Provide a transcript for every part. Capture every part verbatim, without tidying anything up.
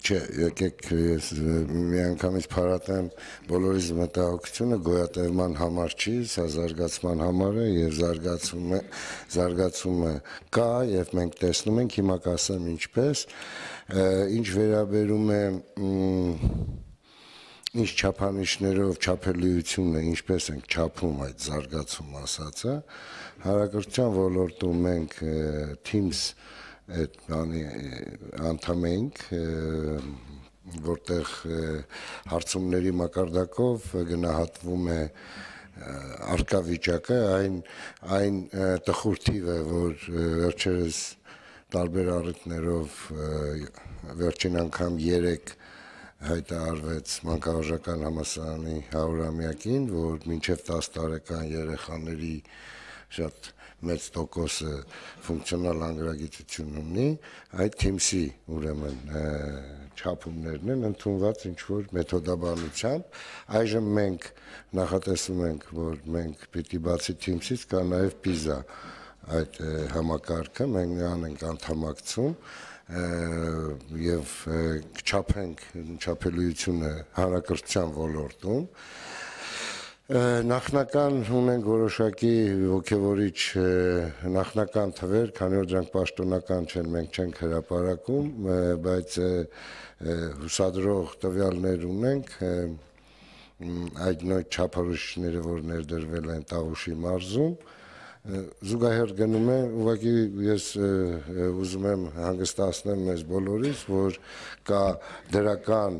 Չէ, եկեք ես մի անգամից փարատեմ բոլորիս մտահոգությունը գոյատևման համար չի, սա զարգացման համար է եւ զարգացում է, զարգացումը կա եւ մենք տեսնում ենք, հիմա կասեմ ինչպես, ինչ վերաբերում է ինչ չափանիշներով չափելիությունը, ինչպես ենք չափում այդ զարգացում ասածը, հանրակրթության ոլորտում մենք Teams այդ բանի անդամ ենք, որտեղ հարցումների մակարդակով գնահատվում է արկա վիճակը, այն այն տխուր թիվը, որ վերջերս տարբեր առիթներով վերջին անգամ երեք հայտարարվեց մանկավարժական համալսարանի հարյուրամյակին, որ մինչև տաս տարեկան երեխաների շատ մեծ տոկոսը ֆունկցիոնալ անգրագիտություն ունի, այդ Teams-ի ուրեմն չափումներն են ընդունված ինչ-որ մեթոդաբանությամբ, այժմ մենք նախատեսում ենք, որ մենք պիտի բացի Teams-ից կա նաև PISA այդ համակարգը, մենք նրան ենք անդամակցում եւ չափենք չափելիությունը հանրակրթության ոլորտում, նախնական ունենք որոշակի ոգևորիչ նախնական թվեր, քանի որ դրանք պաշտոնական չեն, մենք չենք հրապարակում, բայց հուսադրող տվյալներ ունենք, այդ նույն չափորոշիչները, որ ներդրվել են Տավուշի մարզում, զուգահեռ գնում է, ուղղակի ես ուզում եմ հանգստացնել մեզ բոլորիս, որ կա դրական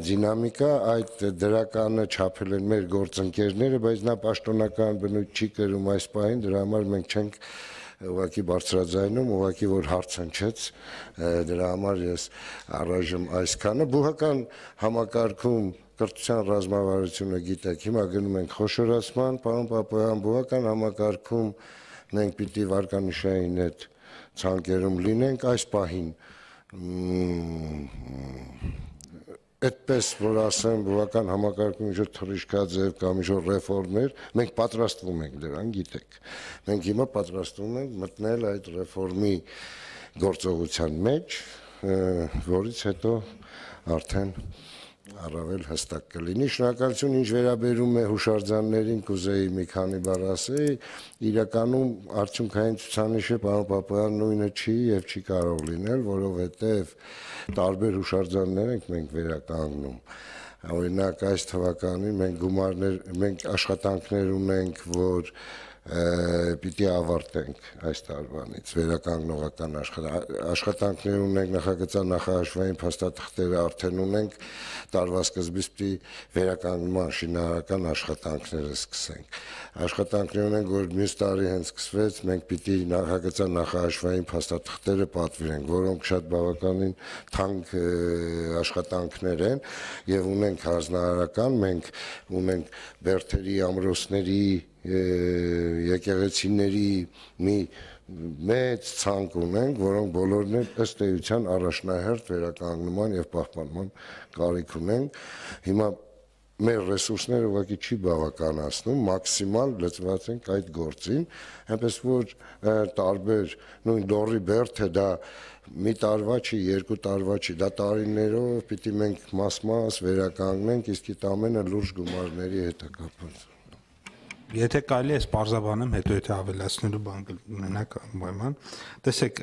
դինամիկա, այդ դրականը չափել են մեր գործընկերները, բայց նա պաշտոնական բնույթ չի կրում այս պահին, դրա համար մենք չենք ուղղակի բարձրաձայնում, ուղղակի որ հարց հնչեց, դրա համար ես առայժմ այսքանը բուհական համակարգում կրթության ռազմավարությունը գիտեք, հիմա գնում ենք խոշորացման, պարոն Պապոյան, բուհական համակարգում մենք պիտի վարկանիշային այդ ցանկերում լինենք այս պահին, այդպես որ ասեմ, բուհական համակարգում ինչ-որ թռիչքաձև կամ ինչ-որ ռեֆորմներ, մենք պատրաստվում ենք դրան, գիտեք, մենք հիմա պատրաստվում ենք մտնել այդ ռեֆորմի գործողության մեջ, որից հետո արդեն առավել հստակ կլինի։ Շնորհակալություն, ինչ վերաբերում է հուշարձաններին, կուզեի մի քանի բառ ասեի, իրականում արդյունքային ցուցանիշը պարոն Պապոյան նույնը չի եւ չի կարող լինել, որովհետեւ տարբեր հուշարձաններ ենք մենք վերականգնում։ Օրինակ այս թվականին մենք գումարներ, մենք աշխատանքներ ունենք, որ պիտի ավարտենք այս տարվանից վերականգնողական աշխատանքներ ունենք, նախագծան նախահաշվային փաստաթղթերը արդեն ունենք, տարվա սկզբից պիտի վերականգնման շինարարական աշխատանքները սկսենք։ Աշխատանքներ ունենք, որ մյուս տարի հենց սկսվեց, մենք պիտի նախագծան նախահաշվային փաստաթղթերը պատվիրենք, որոնք շատ բավականին թանկ աշխատանքներ են եւ ունենք հանձնարարական, մենք ունենք Բերթերի, ամրոցների եկեղեցիների մի մեծ ցանկ ունենք, որոնք բոլորն էլ ըստ էության առաջնահերթ վերականգնման եւ պահպանման կարիք ունենք։ Հիմա մեր ռեսուրսները ուղղակի չի բավականացնում, մաքսիմալ լծված ենք այդ գործին, այնպես որ տարբեր նույն Լոռի Բերթը դա մի տարվա չի, երկու տարվա չի, դա տարիներով պիտի մենք մաս-մաս վերականգնենք, իսկ այդ ամենը լուրջ գումարների հետ է կապված։ Եթե կարելի է պարզաբանեմ, հետո եթե ավելացնելու բան կունենաք անպայման, տեսեք,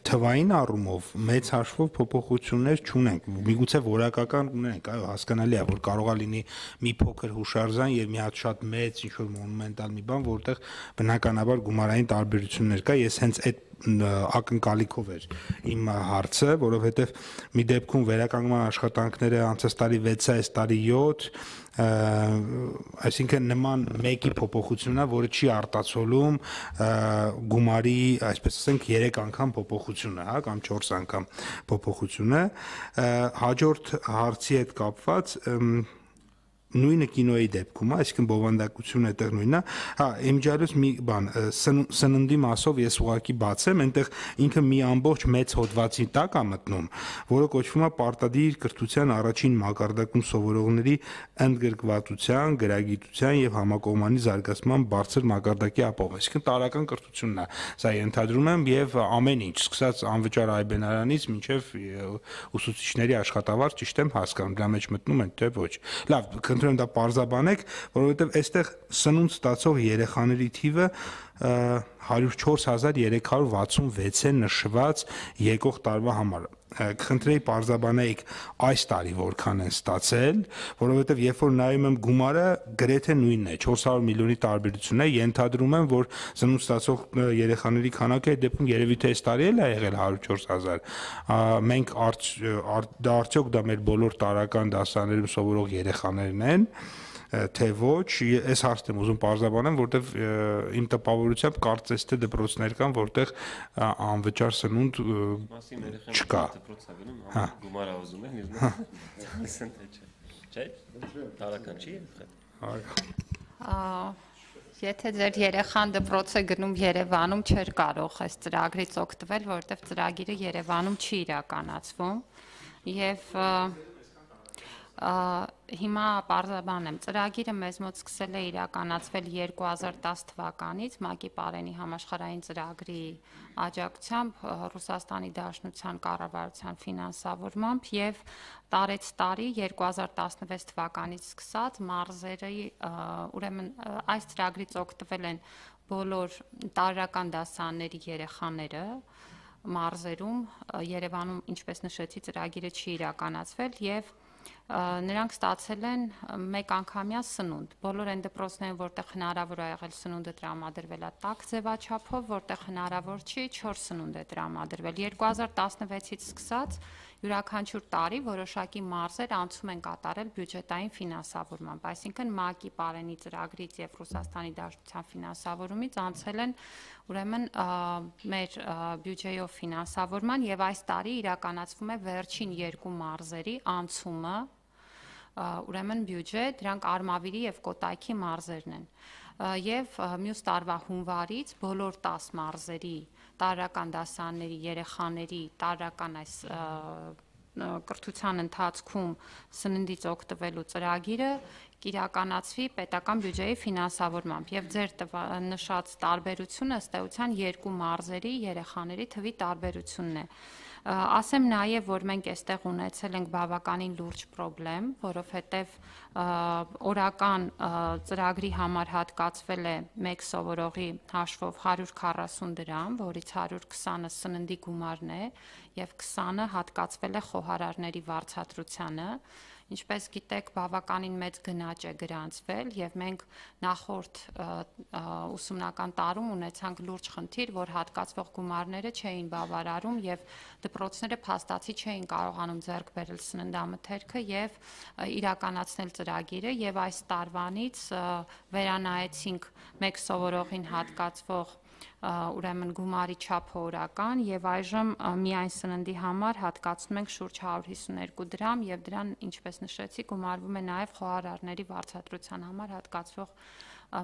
թվային առումով մեծ հաշվով փոփոխություններ չունենք, միգուցե որակական ունենք, այո, հասկանալի է, որ կարող է լինի մի փոքր հուշարձան եւ մի հատ շատ մեծ ինչ-որ մոնումենտալ մի բան, որտեղ բնականաբար գումարային տարբերություններ կա, ես հենց այդ ակնկալիքով էր իմ հարցը, որովհետև մի դեպքում վերականգնման աշխատանքները անցած տարի վեց է, այս տարի յոթ, այսինքն նման մեկի փոփոխությունն է, որը չի արտացոլում գումարի, այսպես ասենք, երեք անգամ փոփոխությունը, հա, կամ չորս անգամ փոփոխությունը։ Հաջորդ հարցի հետ կապված նույնը կինոյի դեպքում է, այսինքն բովանդակությունը այդտեղ նույնն է։ Հա, իմիջիալուս մի բան, սննդի մասով ես ուղակի բացեմ, այնտեղ ինքը մի ամբողջ մեծ հոդվածի տակ է մտնում, որը կոչվում է պարտադիր կրթության առաջին մակարդակում սովորողների ընդգրկվածության, գրագիտության եւ համակողմանի զարգացման բարձր մակարդակի ապով, այսինքն տարրական կրթությունն է։ Սա ենթադրում եմ եւ ամեն ինչ, սկսած անվճար այբենարանից մինչեւ ուսուցիչների աշխատավարձ, ճիշտ եմ հասկանում, դրա մեջ մտնում են թե ոչ։ Լավ, խնդրում եմ դա պարզաբանեք, որովհետեւ այստեղ սնունդ ստացող երեխաների թիվը հարյուր չորս հազար երեք հարյուր վաթսունվեց է նշված եկող տարվա համար։ Կխնդրեի պարզաբանեիք այս տարի որքան են ստացել, որովհետև երբ որ նայում եմ գումարը, գրեթե նույնն է, չորս հարյուր միլիոնի տարբերություն է, ենթադրում եմ, որ սնունդ ստացող երեխաների քանակը այդ դեպքում երևի թե այս տարի էլ է եղել հարյուր չորս հազար։ Մենք դա արդյոք դա մեր բոլոր տարրական դասարաններում սովորող երեխաներն են, թե ոչ, այս հարցն եմ ուզում պարզաբանեմ, որտեվ իմ տպավորությամբ կարծես թե դպրոցներ կան, որտեղ անվճար սնունդ չկա։ Հա, գումարը ուզում են, իսկ չէ, տարական չի եղել։ Եթե ձեր երեխան դպրոց է գնում Երևանում, չէր կարող այս ծրագրից օգտվել, որովհետև ծրագիրը Երևանում չի իրականացվում եւ հիմա պարզաբանեմ, ծրագիրը մեզ մոտ սկսել է իրականացվել երկու հազար տաս թվականից ՄԱԿ-ի Պարենի համաշխարհային ծրագրի աջակցությամբ Ռուսաստանի Դաշնության կառավարության ֆինանսավորմամբ եւ տարեց տարի երկու հազար տասնվեց թվականից սկսած մարզերի, ուրեմն այս ծրագրից օգտվել են բոլոր տարրական դասարանների երեխաները մարզերում, Երևանում, ինչպես նշեցի, ծրագիրը չի իրականացվել եւ նրանք ստացել են մեկ անգամյա սնունդ։ Բոլոր այն դպրոցներն, որտեղ հնարավոր է եղել սնունդը տրամադրվել է տաք ձևաչափով, որտեղ հնարավոր չի, չոր սնունդ է տրամադրվել։ երկու հազար տասնվեցից սկսած յուրաքանչյուր տարի որոշակի մարզեր անցում են կատարել բյուջետային ֆինանսավորմամբ, այսինքն ՄԱԿ-ի Պարենի ծրագրից եւ Ռուսաստանի Դաշնության ֆինանսավորումից անցել են ուրեմն մեր բյուջեյով ֆինանսավորման եւ այս տարի իրականացվում է վերջին երկու մարզերի անցումը ուրեմն բյուջե, դրանք Արմավիրի եւ Կոտայքի մարզերն են։ Եվ մյուս տարվա հունվարից բոլոր տաս մարզերի տարրական դասարանների երեխաների տարրական այս կրթության ընթացքում սննդից օգտվելու ծրագիրը կիրականացվի պետական բյուջեի ֆինանսավորմամբ եւ ձեր նշած տարբերությունը ըստ էության երկու մարզերի երեխաների թվի տարբերությունն է։ Ասեմ նաև, որ մենք այստեղ ունեցել ենք բավականին լուրջ խնդրեմ, որովհետև օրական ծրագրի համար հատկացվել է մեկ սովորողի հաշվով հարյուր քառասուն դրամ, որից հարյուր քսանը սննդի գումարն է եւ քսանը հատկացվել է խոհարարների վարձատրությանը։ Ինչպես գիտեք, բավականին մեծ գնաճ է գրանցվել եւ մենք նախորդ ուսումնական տարում ունեցանք լուրջ խնդիր, որ հատկացվող գումարները չէին բավարարում եւ դպրոցները փաստացի չէին կարողանում ձեռք բերել սննդամթերքը եւ իրականացնել ծրագիրը եւ այս տարվանից վերանայեցինք մեկ սովորողին հատկացվող ուրեմն գումարի չափը օրական եւ այժմ միայն սննդի համար հատկացնում ենք շուրջ հարյուր հիսուներկու դրամ եւ դրան, ինչպես նշեցի, գումարվում է նաեւ խոհարարների վարձատրության համար հատկացվող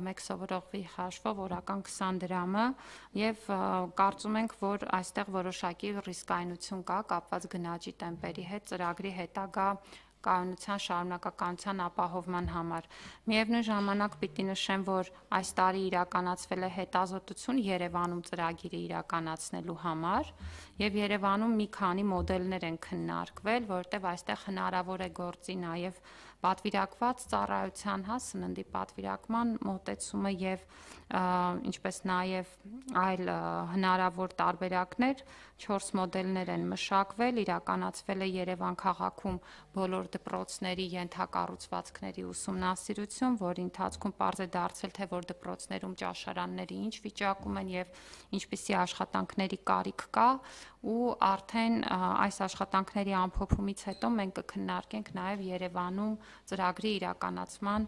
մեկ սովորողի հաշվով օրական քսան դրամը եւ կարծում ենք, որ այստեղ որոշակի ռիսկայնություն կա կապված գնաճի տեմպերի հետ ծրագրի հետագա կայունության շարունակականության ապահովման համար։ Միևնույն ժամանակ պիտի նշեմ, որ այս տարի իրականացվել է հետազոտություն Երևանում ծրագիրը իրականացնելու համար եւ Երևանում մի քանի մոդելներ են քննարկվել, որտեղ այստեղ հնարավոր է գործի նաեւ պատվիրակված ծառայության, հա, սննդի պատվիրակման մոտեցումը եւ ինչպես նաեւ այլ հնարավոր տարբերակներ, չորս մոդելներ են մշակվել, իրականացվել է Երևան քաղաքում բոլոր դպրոցների ենթակառուցվածքների ուսումնասիրություն, որի ընթացքում պարզ է դարձել, թե որ դպրոցներում ճաշարանների ինչ վիճակում են եւ ինչպիսի աշխատանքների կարիք կա ու արդեն այս աշխատանքների ամփոփումից հետո մենք կքննարկենք նաեւ Երևանում ծրագրի իրականացման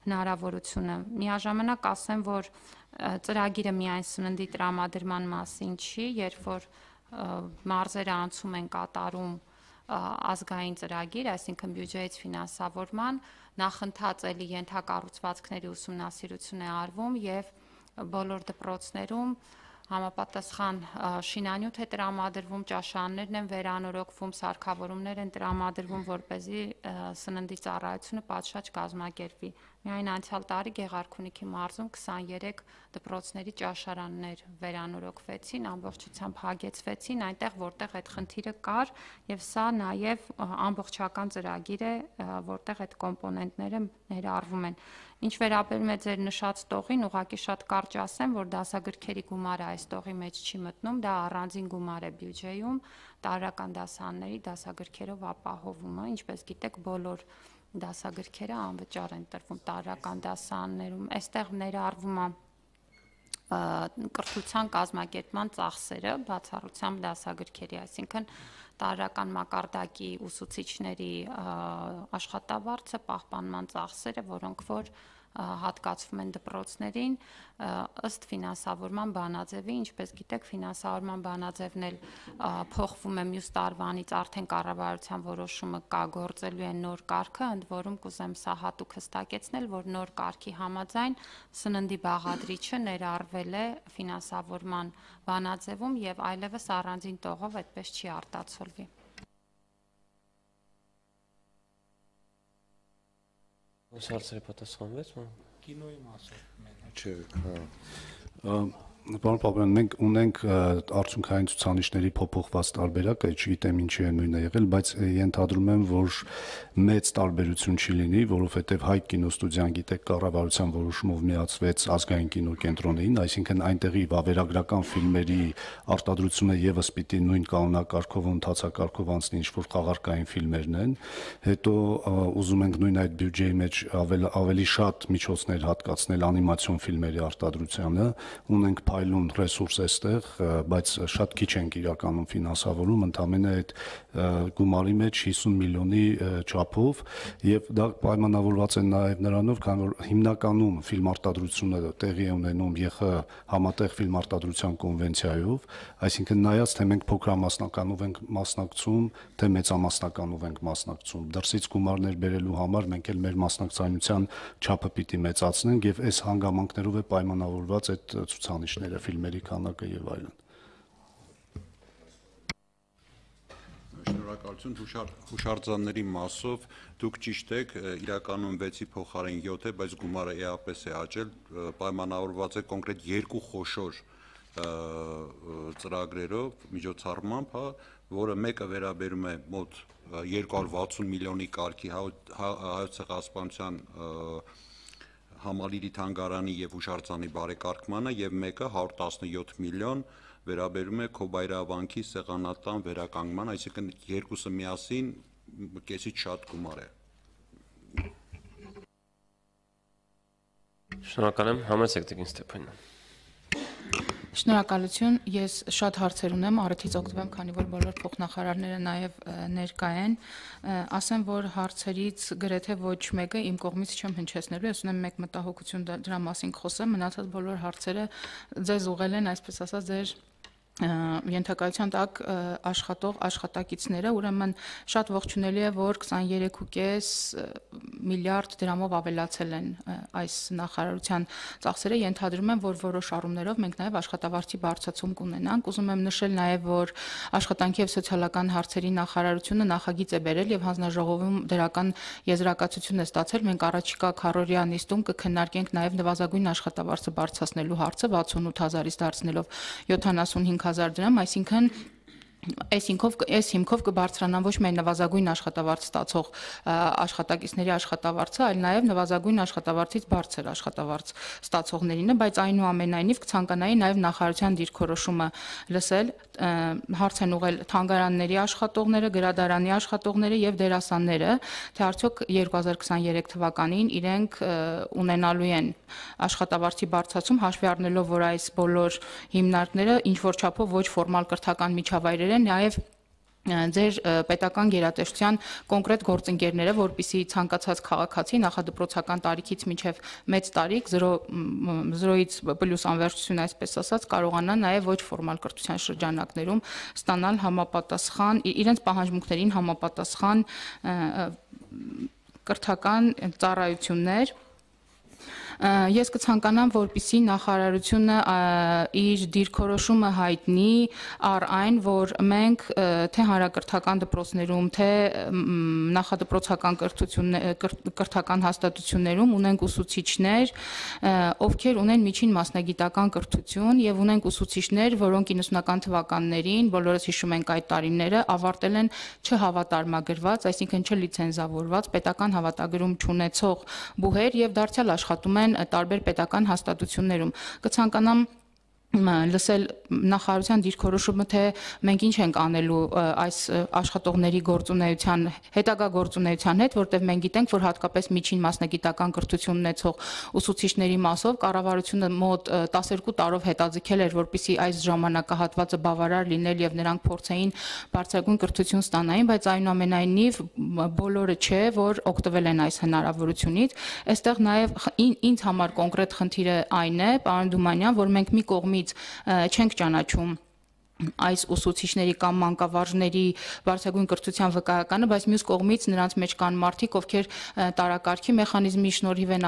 հնարավորությունը։ Միաժամանակ ասեմ, որ ծրագիրը միայն սննդի տրամադրման մասին չի, երբ որ մարզերը անցում են կատարում ազգային ծրագիր, այսինքն բյուջեից ֆինանսավորման, նախընթաց էլի ենթակառուցվածքների ուսումնասիրություն է արվում եւ բոլոր դպրոցներում համապատասխան շինանյութ է տրամադրվում, ճաշարաններն են վերանորոգվում, սարքավորումներ են տրամադրվում, որպեսզի սննդի ծառայությունը պատշաճ կազմակերպվի։ Միայն անցյալ տարի Գեղարքունիքի մարզում քսաներեք դպրոցների ճաշարաններ վերանորոգվեցին, ամբողջությամբ հագեցվեցին այնտեղ, որտեղ այդ խնդիրը կար, եւ սա նաեւ ամբողջական ծրագիր է, որտեղ այդ կոմպոնենտները ներառվում են։ Ինչ վերաբերում է ձեր նշած տողին, ուղղակի շատ կարճ ասեմ, որ դասագրքերի գումարը այս տողի մեջ չի մտնում, դա առանձին գումար է բյուջեում, տարրական դասարանների դասագրքերով ապահովումը, ինչպես գիտեք, բոլոր դասագրքերը անվճար են տրվում տարրական դասարաններում։ Այստեղ ներառվում է կրթության կազմակերպման ծախսերը, բացառությամբ դասագրքերի, այսինքն տարրական մակարդակի ուսուցիչների աշխատավարձը, պահպանման ծախսերը, որոնք որ հատկացվում են դպրոցներին ըստ ֆինանսավորման բանաձևի, ինչպես գիտեք, ֆինանսավորման բանաձևն էլ փոխվում է մյուս տարվանից, արդեն կառավարության որոշումը կա, գործելու է նոր կարգը, ընդ որում կուզեմ սա հատուկ հստակեցնել, որ նոր կարգի համաձայն սննդի բաղադրիչը ներառվել է ֆինանսավորման բանաձևում եւ այլևս առանձին տողով այդպես չի արտացոլվի։ Ո՞նց հարցերը պատասխանվեց, ո՞ն։ Կինոյի մասով մենակ։ Չէ, հա։ Պարոն Պապյան, մենք ունենք արդյունքային ցուցանիշների փոփոխված տարբերակը, չգիտեմ ինչի է նույնը եղել, բայց ենթադրում եմ, որ մեծ տարբերություն չի լինի, որովհետև Հայ կինոստուդիան, գիտեք, կառավարության որոշումով միացվեց ազգային կինոկենտրոնին, այսինքն այնտեղի վավերագրական ֆիլմերի արտադրությունը եւս պիտի նույն կանոնակարգով ու ընթացակարգով անցնի, ինչ որ խաղարկային ֆիլմերն են, հետո ուզում ենք նույն այդ բյուջեի մեջ ավել, ավելի շատ միջոցներ հատկացնել անիմացիոն ֆիլմերի արտադրությանը, ունենք այլուն ռեսուրս էստեղ, բայց շատ քիչ ենք իրականում ֆինանսավորում, ընդամենը այդ գումարի մեջ հիսուն միլիոնի չափով, եւ դա պայմանավորված է նաեւ նրանով, քանի որ հիմնականում ֆիլմ արտադրությունը տեղի է ունենում ԵԽ համատեղ ֆիլմ արտադրության կոնվենցիայով, այսինքն նայած թե մենք փոքրամասնականով ենք մասնակցում, թե մեծամասնականով ենք մասնակցում, դրսից գումարներ բերելու համար մենք էլ մեր մասնակցայնության չափը պիտի մեծացնենք եւ այս հանգամանքներով է պայմանավորված այդ ցուցանիշները, ֆիլմերի քանակը եւ այլն։ Շնորհակալություն հուշարձանների մասով դուք ճիշտ եք, իրականում վեցի փոխարեն յոթ է, բայց գումարը էապես է աճել, պայմանավորված է կոնկրետ երկու խոշոր ծրագրերով, միջոցառմամբ, հա, որը մեկը վերաբերում է մոտ երկու հարյուր վաթսուն միլիոնի կարգի Հայոց ցեղասպանության համալիրի թանգարանի եւ հուշարձանի բարեկարգմանը եւ մեկը հարյուր տասնյոթ միլիոն վերաբերում է Քոբայրավանքի սեղանատան վերականգնման, այսինքն երկուսը միասին կեսից շատ գումար է։ Շնորհակալ եմ, համեցեք Տիկին Ստեփանյան։ Շնորհակալություն, ես շատ հարցեր ունեմ, առիթից օգտվեմ, քանի որ բոլոր փոխնախարարները նաև ներկա են, ասեմ, որ հարցերից գրեթե ոչ մեկը իմ կողմից չեմ հնչեցնելու, ես ունեմ մեկ մտահոգություն դրա մասին խոսեմ, մնացած բոլոր հարցերը ձեզ ուղղել են, այսպես ասած, ձեր ենթակայության տակ աշխատող աշխատակիցները, ուրեմն շատ ողջունելի է, որ քսաներեք ու կես միլիարդ դրամով ավելացել են այս նախարարության ծախսերը, ենթադրում եմ, որ որոշ առումներով մենք նաև աշխատավարձի բարձրացում կունենանք, ուզում եմ նշել նաև, որ աշխատանքի եւ սոցիալական հարցերի նախարարությունը նախագիծ է բերել եւ հանձնաժողովում դրական եզրակացություն է ստացել, մենք առաջիկա քառօրյա նիստում կքննարկենք նաև նվազագույն աշխատավարձը բարձրացնելու հարցը վաթսունութ հազարից դարձնելով յոթանասունհինգ հազար դրամ, այսինքն այս հիմքով այս հիմքով կբարձրանան ոչ միայն նվազագույն աշխատավարձ ստացող աշխատակիցների աշխատավարձը, այլ նաև նվազագույն աշխատավարձից բարձր աշխատավարձ ստացողներինը, բայց այնուամենայնիվ կցանկանայի նաև նախարարության դիրքորոշումը լսել, հարց են ուղղել թանգարանների աշխատողները, գրադարանի աշխատողները եւ դերասանները, թե արդյոք երկու հազար քսաներեք թվականին իրենք ունենալու են աշխատավարձի բարձրացում, հաշվի առնելով, որ այս բոլոր հիմնարկները ինչ որ չափով ոչ ֆորմալ կրթական միջավայրեր են, նաև ձեր պետական գերատեսչության կոնկրետ գործընկերները, որպիսի ցանկացած քաղաքացի նախադպրոցական տարիքից մինչև մեծ տարիք զրոյից պլյուս անվերջություն, այսպես ասած, կարողանան նաև ոչ ֆորմալ կրթության շրջանակներում ստանալ համապատասխան իրենց պահանջմունքներին համապատասխան կրթական ծառայություններ։ Ես կցանկանամ, որպիսի նախարարությունը իր դիրքորոշումը հայտնի առ այն, որ մենք թե հանրակրթական դպրոցներում, թե նախադպրոցական կրթական հաստատություններում ունենք ուսուցիչներ, ովքեր ունեն միջին մասնագիտական կրթություն եւ ունենք ուսուցիչներ, որոնք իննսունական թվականներին, բոլորս հիշում ենք այդ տարիները, ավարտել են չհավատարմագրված, այսինքն չլիցենզավորված պետական հավատագրում չունեցող բուհեր եւ դարձյալ աշխատում են տարբեր պետական հաստատություններում։ Կցանկանամ լսել նախարարության դիրքորոշումը, թե մենք ինչ ենք անելու այս աշխատողների գործունեության, հետագա գործունեության հետ, որտեղ մենք գիտենք, որ հատկապես միջին մասնագիտական կրթություն ունեցող ուսուցիչների մասով կառավարությունը մոտ տասներկու տարով հետաձգել էր, որպեսզի այս ժամանակահատվածը բավարար լիներ եւ նրանք փորձեին բարձրագույն կրթություն ստանային, բայց այնուամենայնիվ բոլորը չէ, որ օգտվել են այս հնարավորությունից։ Այստեղ նաեւ ինձ համար կոնկրետ խնդիրը այն է, պարոն Դումանյան, որ մենք մի կողմից չենք ճանաչում այս ուսուցիչների կամ մանկավարժների բարձրագույն կրթության վկայականը, բայց մյուս կողմից նրանց մեջ կան մարդիկ, ովքեր տարակարգի մեխանիզմի շնորհիվ են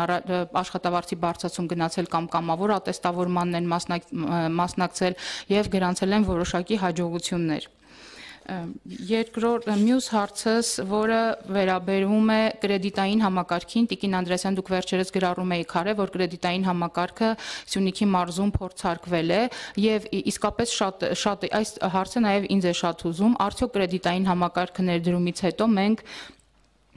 աշխատավարձի բարձրացում գնացել կամ կամավոր ատեստավորմանն են մասնակցել եւ գրանցել են որոշակի հաջողություններ։ Երկրորդ մյուս հարցս, որը վերաբերում է կրեդիտային համակարգին, Տիկին Անդրեասյան, դուք վերջերս գրառում եք քարե, որ կրեդիտային համակարգը Սյունիքի մարզում փորձարկվել է եւ իսկապես շատ շատ այս հարցը նաեւ ինձ է շատ հուզում, արդյոք կրեդիտային համակարգը ներդրումից հետո մենք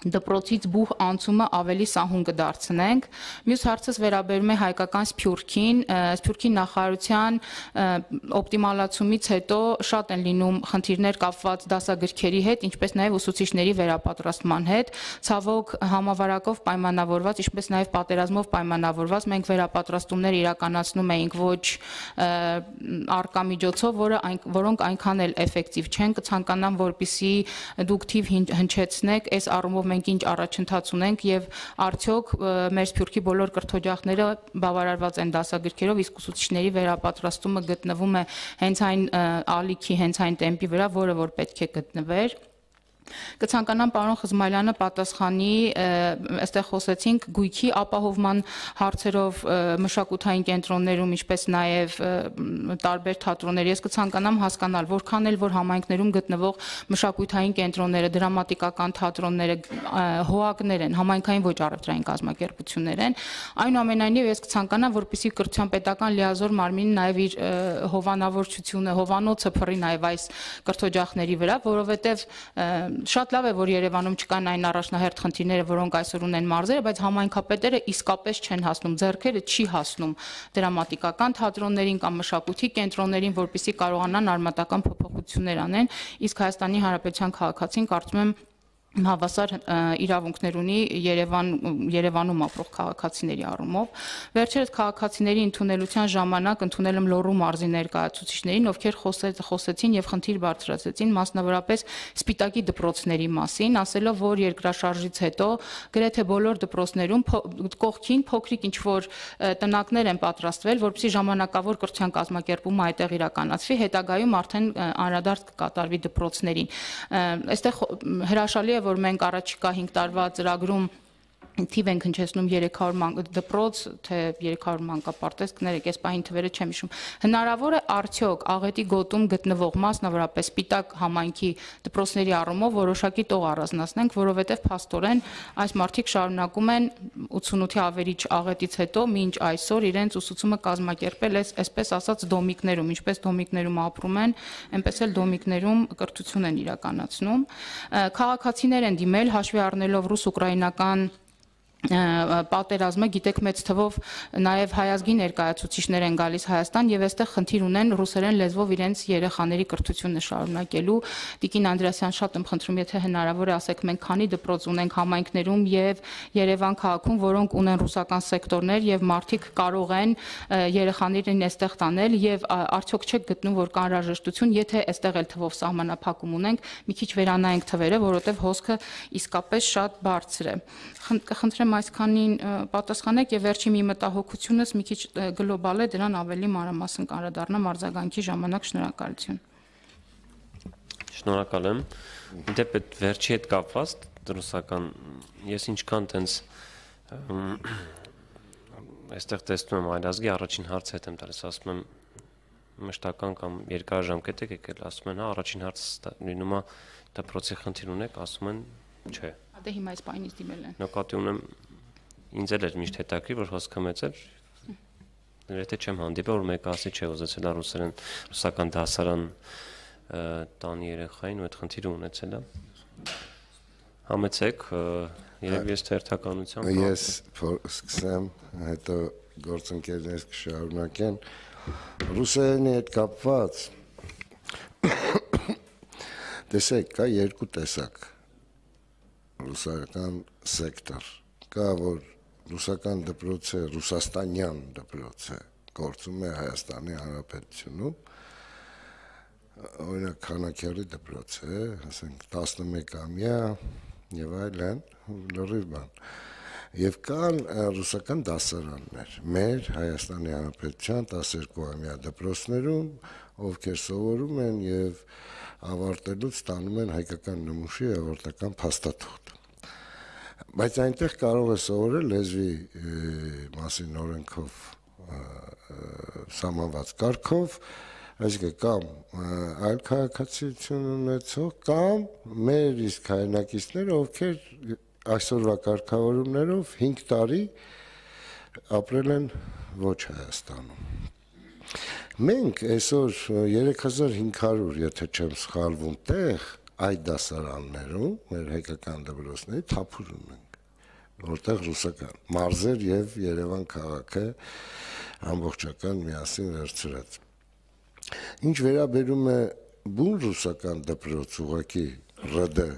դպրոցից բուհ անցումը ավելի սահուն կդարձնենք։ Մյուս հարցս վերաբերում է հայկական Սփյուռքին, Սփյուռքի նախարարության օպտիմալացումից հետո շատ են լինում խնդիրներ կապված դասագրքերի հետ, ինչպես նաև ուսուցիչների վերապատրաստման հետ։ Ցավոք համավարակով պայմանավորված, ինչպես նաև պատերազմով պայմանավորված մենք վերապատրաստումներ իրականացնում էինք ոչ արկա միջոցով, որը որոնք այնքան էլ էֆեկտիվ չեն։ Կցանկանամ, որպեսզի դուք թիվ հնչեցնեք այս առումով մենք ինչ առաջընթաց ունենք եւ արդյոք մեր Սփյուռքի բոլոր կրթօջախները բավարարված են դասագրքերով, իսկ ուսուցիչների վերապատրաստումը գտնվում է հենց այն ալիքի, հենց այն տեմպի վրա, որը որ պետք է գտնվեր։ Կցանկանամ պարոն Խզմալյանը պատասխանի, այստեղ խոսեցինք գույքի ապահովման հարցերով մշակութային կենտրոններում, ինչպես նաև տարբեր թատրոններ։ Ես կցանկանամ հասկանալ, որքան էլ որ համայնքներում գտնվող մշակութային կենտրոնները, դրամատիկական թատրոնները, հոակներ են, համայնքային ոչ առևտրային կազմակերպություններ են, այնուամենայնիվ ես կցանկանամ, որպեսզի կրթության պետական լիազոր մարմինը նաև իր հովանավորչությունը, հովանոցը փռի նաև այս կրթօջախների վրա, որովհետև շատ լավ է, որ Երևանում չկան այն առաջնահերթ խնդիրները, որոնք այսօր ունեն մարզերը, բայց համայնքապետերը իսկապես չեն հասնում, ձեռքերը չի հասնում դրամատիկական թատրոններին կամ մշակույթի կենտրոններին, որպեսզի կարողանան արմատական փոփոխություններ անեն, իսկ Հայաստանի Հանրապետության քաղաքացին կարծում եմ հավասար իրավունքներ ունի Երևան Երևանում ապրող քաղաքացիների առումով։ Վերջերս քաղաքացիների ընդունելության ժամանակ ընդունել եմ Լոռու մարզի ներկայացուցիչներին, ովքեր խոսեցին եւ խնդիր բարձրացրեցին մասնավորապես սպիտակի դպրոցների մասին, ասելով, որ երկրաշարժից հետո գրեթե բոլոր դպրոցներում կողքին փոքրիկ ինչ որ տնակներ են պատրաստվել, որպեսզի ժամանակավոր կրթության կազմակերպումը այդտեղ իրականացվի, հետագայում արդեն անդրադարձ կկատարվի դպրոցներին։ Այստեղ հրաշալի է, որ մենք առաջիկա հինգ տարվա ծրագրում թիվ ենք հնչեցնում երեք հարյուր դպրոց, թե երեք հարյուր մանկապարտեզ, կներեք, այս պահին թվերը չեմ հիշում։ Հնարավոր է արդյոք Աղետի գոտում գտնվող մասնավորապես Սպիտակ համայնքի դպրոցների առումով որոշակի տող առանձնացնենք, որովհետև փաստորեն այս մարդիկ շարունակում են ութսունութի ավերիչ աղետից հետո մինչ այսօր իրենց ուսուցումը կազմակերպել այսպես ասած դոմիկներում, ինչպես դոմիկներում ապրում են, այնպես էլ դոմիկներում կրթություն են իրականացնում։ Քաղաքացիներ են դիմել հաշվի առնելով ռուս-ուկրաինական պատերազմը, գիտեք մեծ թվով նաև հայազգի ներկայացուցիչներ են գալիս Հայաստան եւ այստեղ խնդիր ունեն ռուսերեն լեզվով իրենց երեխաների կրթությունը շարունակելու։ Տիկին Անդրեասյան, շատ եմ խնդրում, եթե հնարավոր է, ասեք, մենք քանի դպրոց ունենք համայնքներում եւ Երևան քաղաքում, որոնք ունեն ռուսական սեկտորներ եւ մարդիկ կարող են երեխաներին այստեղ տանել եւ արդյոք չեք գտնում, որ կա անհրաժեշտություն, եթե այստեղ էլ թվով սահմանափակում ունենք, մի քիչ վերանայենք թվերը, որովհետեւ հոսքը իսկապես շատ բարձր է։ Կխնդրեմ այսքանին պատասխանեք եւ վերջի մի մտահոգությունս մի քիչ գլոբալ է, դրան ավելի մանրամասն կանդրադառնամ արձագանքի ժամանակ։ Շնորհակալություն։ Շնորհակալ եմ։ Դեպի վերջի հետ կապված ռուսական ես ինչքան տենց այստեղ տեսնում եմ այլազգի առաջին հարցը հետ եմ տալիս, ասում եմ մշտական կամ երկարաժամկետ եք եկել, ասում են հա առաջին հարցը լինում է դպրոցի խնդիր ունեք, ասում են չէ։ Դե հիմա այս պայնից դիմել են։ Նկատի ունեմ ինձ էլ էր միշտ հետաքրքիր, որ հոսքը մեծ էր։ Եթե չեմ հանդիպել, որ մեկը ասի չէ, ուզեցել է ռուսերեն ռուսական դասարան տանի երեխային ու այդ խնդիրը ունեցել է։ Համեցեք, երևի ես թերթականությամբ ես սկսեմ, հետո գործընկերներս կշարունակեն ռուսերենի հետ կապված տեսեք, կա երկու տեսակ ռուսական սեկտոր, կա որ ռուսական դպրոց է, ռուսաստանյան դպրոց է, գործում է Հայաստանի Հանրապետությունում, օրինակ Քանաքյարի դպրոց է, ասենք տասնմեկամյա եւ այլն, լրիվ բան։ Եվ կան ռուսական դասարաններ, մեր Հայաստանի Հանրապետության տասներկուամյա դպրոցներում, ովքեր սովորում են եւ ավարտելուց ստանում են հայկական նմուշի ավարտական փաստաթուղթ։ Բայց այնտեղ կարող է սովորել լեզվի մասին օրենքով սահմանված կարգով, այսինքն կամ այլ քաղաքացիություն ունեցող, կամ մեր իսկ հայրենակիցները, ովքեր այսօրվա կարգավորումներով հինգ տարի ապրել են ոչ Հայաստանում։ Մենք այսօր երեք հազար հինգ հարյուր, եթե չեմ սխալվում, տեղ այդ դասարաններում, մեր հայկական դպրոցների թափուր ունենք, որտեղ ռուսական մարզեր եւ Երևան քաղաքը ամբողջական միասին վերցրած։ Ինչ վերաբերում է բուն ռուսական դպրոց ուղակի ՌԴ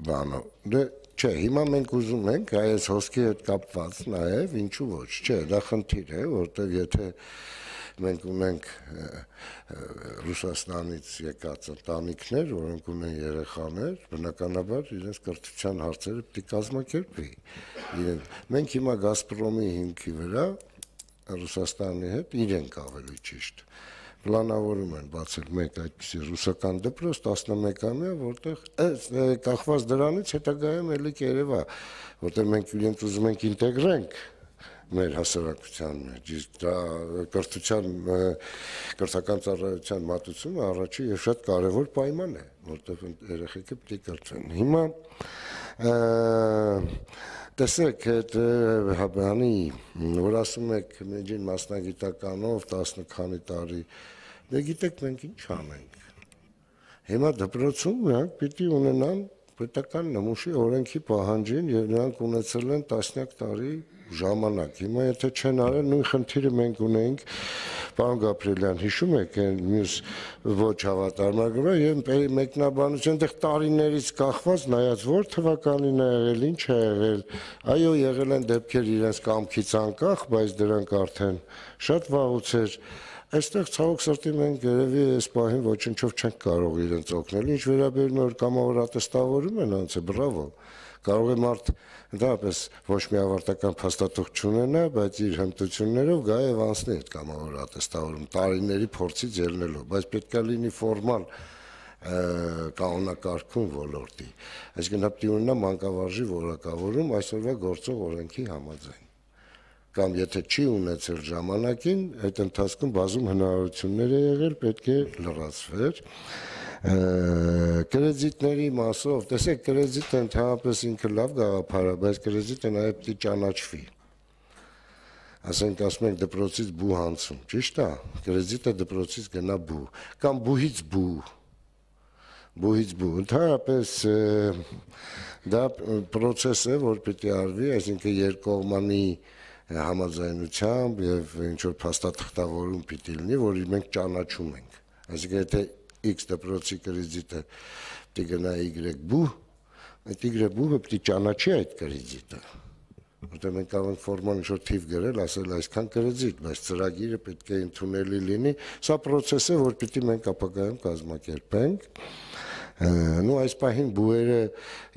բանո, դե չէ, հիմա մենք ուզում ենք այս հոսքի հետ կապված նաեւ ինչու ոչ, չէ, դա խնդիր է, որտեղ եթե մենք ունենք Ռուսաստանից եկած ընտանիքներ, որոնք ունեն երեխաներ, բնականաբար իրենց կրթության հարցերը պետք է կազմակերպվի։ Մենք հիմա Գազպրոմի հիմքի վրա Ռուսաստանի հետ իրենք ավելի ճիշտ պլանավորում են բացել մեկ այդպիսի ռուսական դպրոց տասնմեկամյա, որտեղ կախված դրանից հետագայում էլի կերևա, որտեղ մենք իրենց ուզում ենք ինտեգրենք մեր հասարակության մեջ, իսկ դա կրթության կրթական ծառայության մատուցումը առաջի եւ շատ կարեւոր պայման է, որտեղ երեխեքը պետք է կրթվեն։ Հիմա տեսեք, այդ բանի, որ ասում եք մեջին մասնագիտականով տասն քանի տարի, դե գիտեք մենք ինչ անենք։ Հիմա դպրոցում նրանք պիտի ունենան պետական նմուշի օրենքի պահանջին եւ նրանք ունեցել են տասնյակ տարի ժամանակ։ Հիմա եթե չեն արել, նույն խնդիրը մենք ունենք, պարոն Գաբրիելյան, հիշում եք այն մյուս ոչ հավատարմագրը եւ մեկնաբանություն այդտեղ տարիներից կախված նայած որ թվականին է եղել, ինչ է եղել։ Այո, եղել են դեպքեր իրենց կամքից անկախ, բայց դրանք արդեն շատ վաղուց էր։ Այստեղ ցավոք սրտի մենք երևի այս պահին ոչնչով չենք կարող իրենց օգնել։ Ինչ վերաբերում է որ կամավոր ատեստավորում են անցը, բրավո։ Կարող է մարդ դեպս ոչ մի ավարտական փաստաթուղթ չունենա, բայց իր հմտություններով գա եւ անցնի այդ կամավոր ատեստավորում տարիների փորձից ելնելով, բայց պետք է լինի ֆորմալ կանոնակարգում ոլորտի։ Այսինքն հապտի ունենա մանկավարժի որակավորում այսօրվա գործող օրենքի համաձայն։ Կամ եթե չի ունեցել ժամանակին, այդ ընթացքում բազում հնարավորություններ է եղել, պետք է լրացվեր։ Կրեդիտների մասով, տեսեք, կրեդիտը ընդհանրապես ինքը լավ գաղափար է, բայց կրեդիտը նաև պետք է ճանաչվի։ Ասենք ասում ենք դպրոցից բու հանցում, ճիշտ է, կրեդիտը դպրոցից գնա բու, կամ բուհից բու, բուհից բու, ընդհանրապես Դա process է, որ պիտի արվի, այսինքն երկկողմանի համաձայնությամբ եւ ինչ որ փաստաթղթավորում պիտի լինի, որ մենք ճանաչում ենք։ Այսինքն եթե X դպրոցի կրիզիտը պիտի գնա Y բու, այդ Y բուհը պիտի ճանաչի այդ կրիզիտը։ Որտեղ մենք կարող ենք ֆորմալ ինչ որ թիվ գրել, ասել այսքան կրիզիտ, բայց ծրագիրը պետք է ընդունելի լինի։ Սա process է, որ պիտի մենք ապագայում կազմակերպենք։ Նու այս պահին բուերը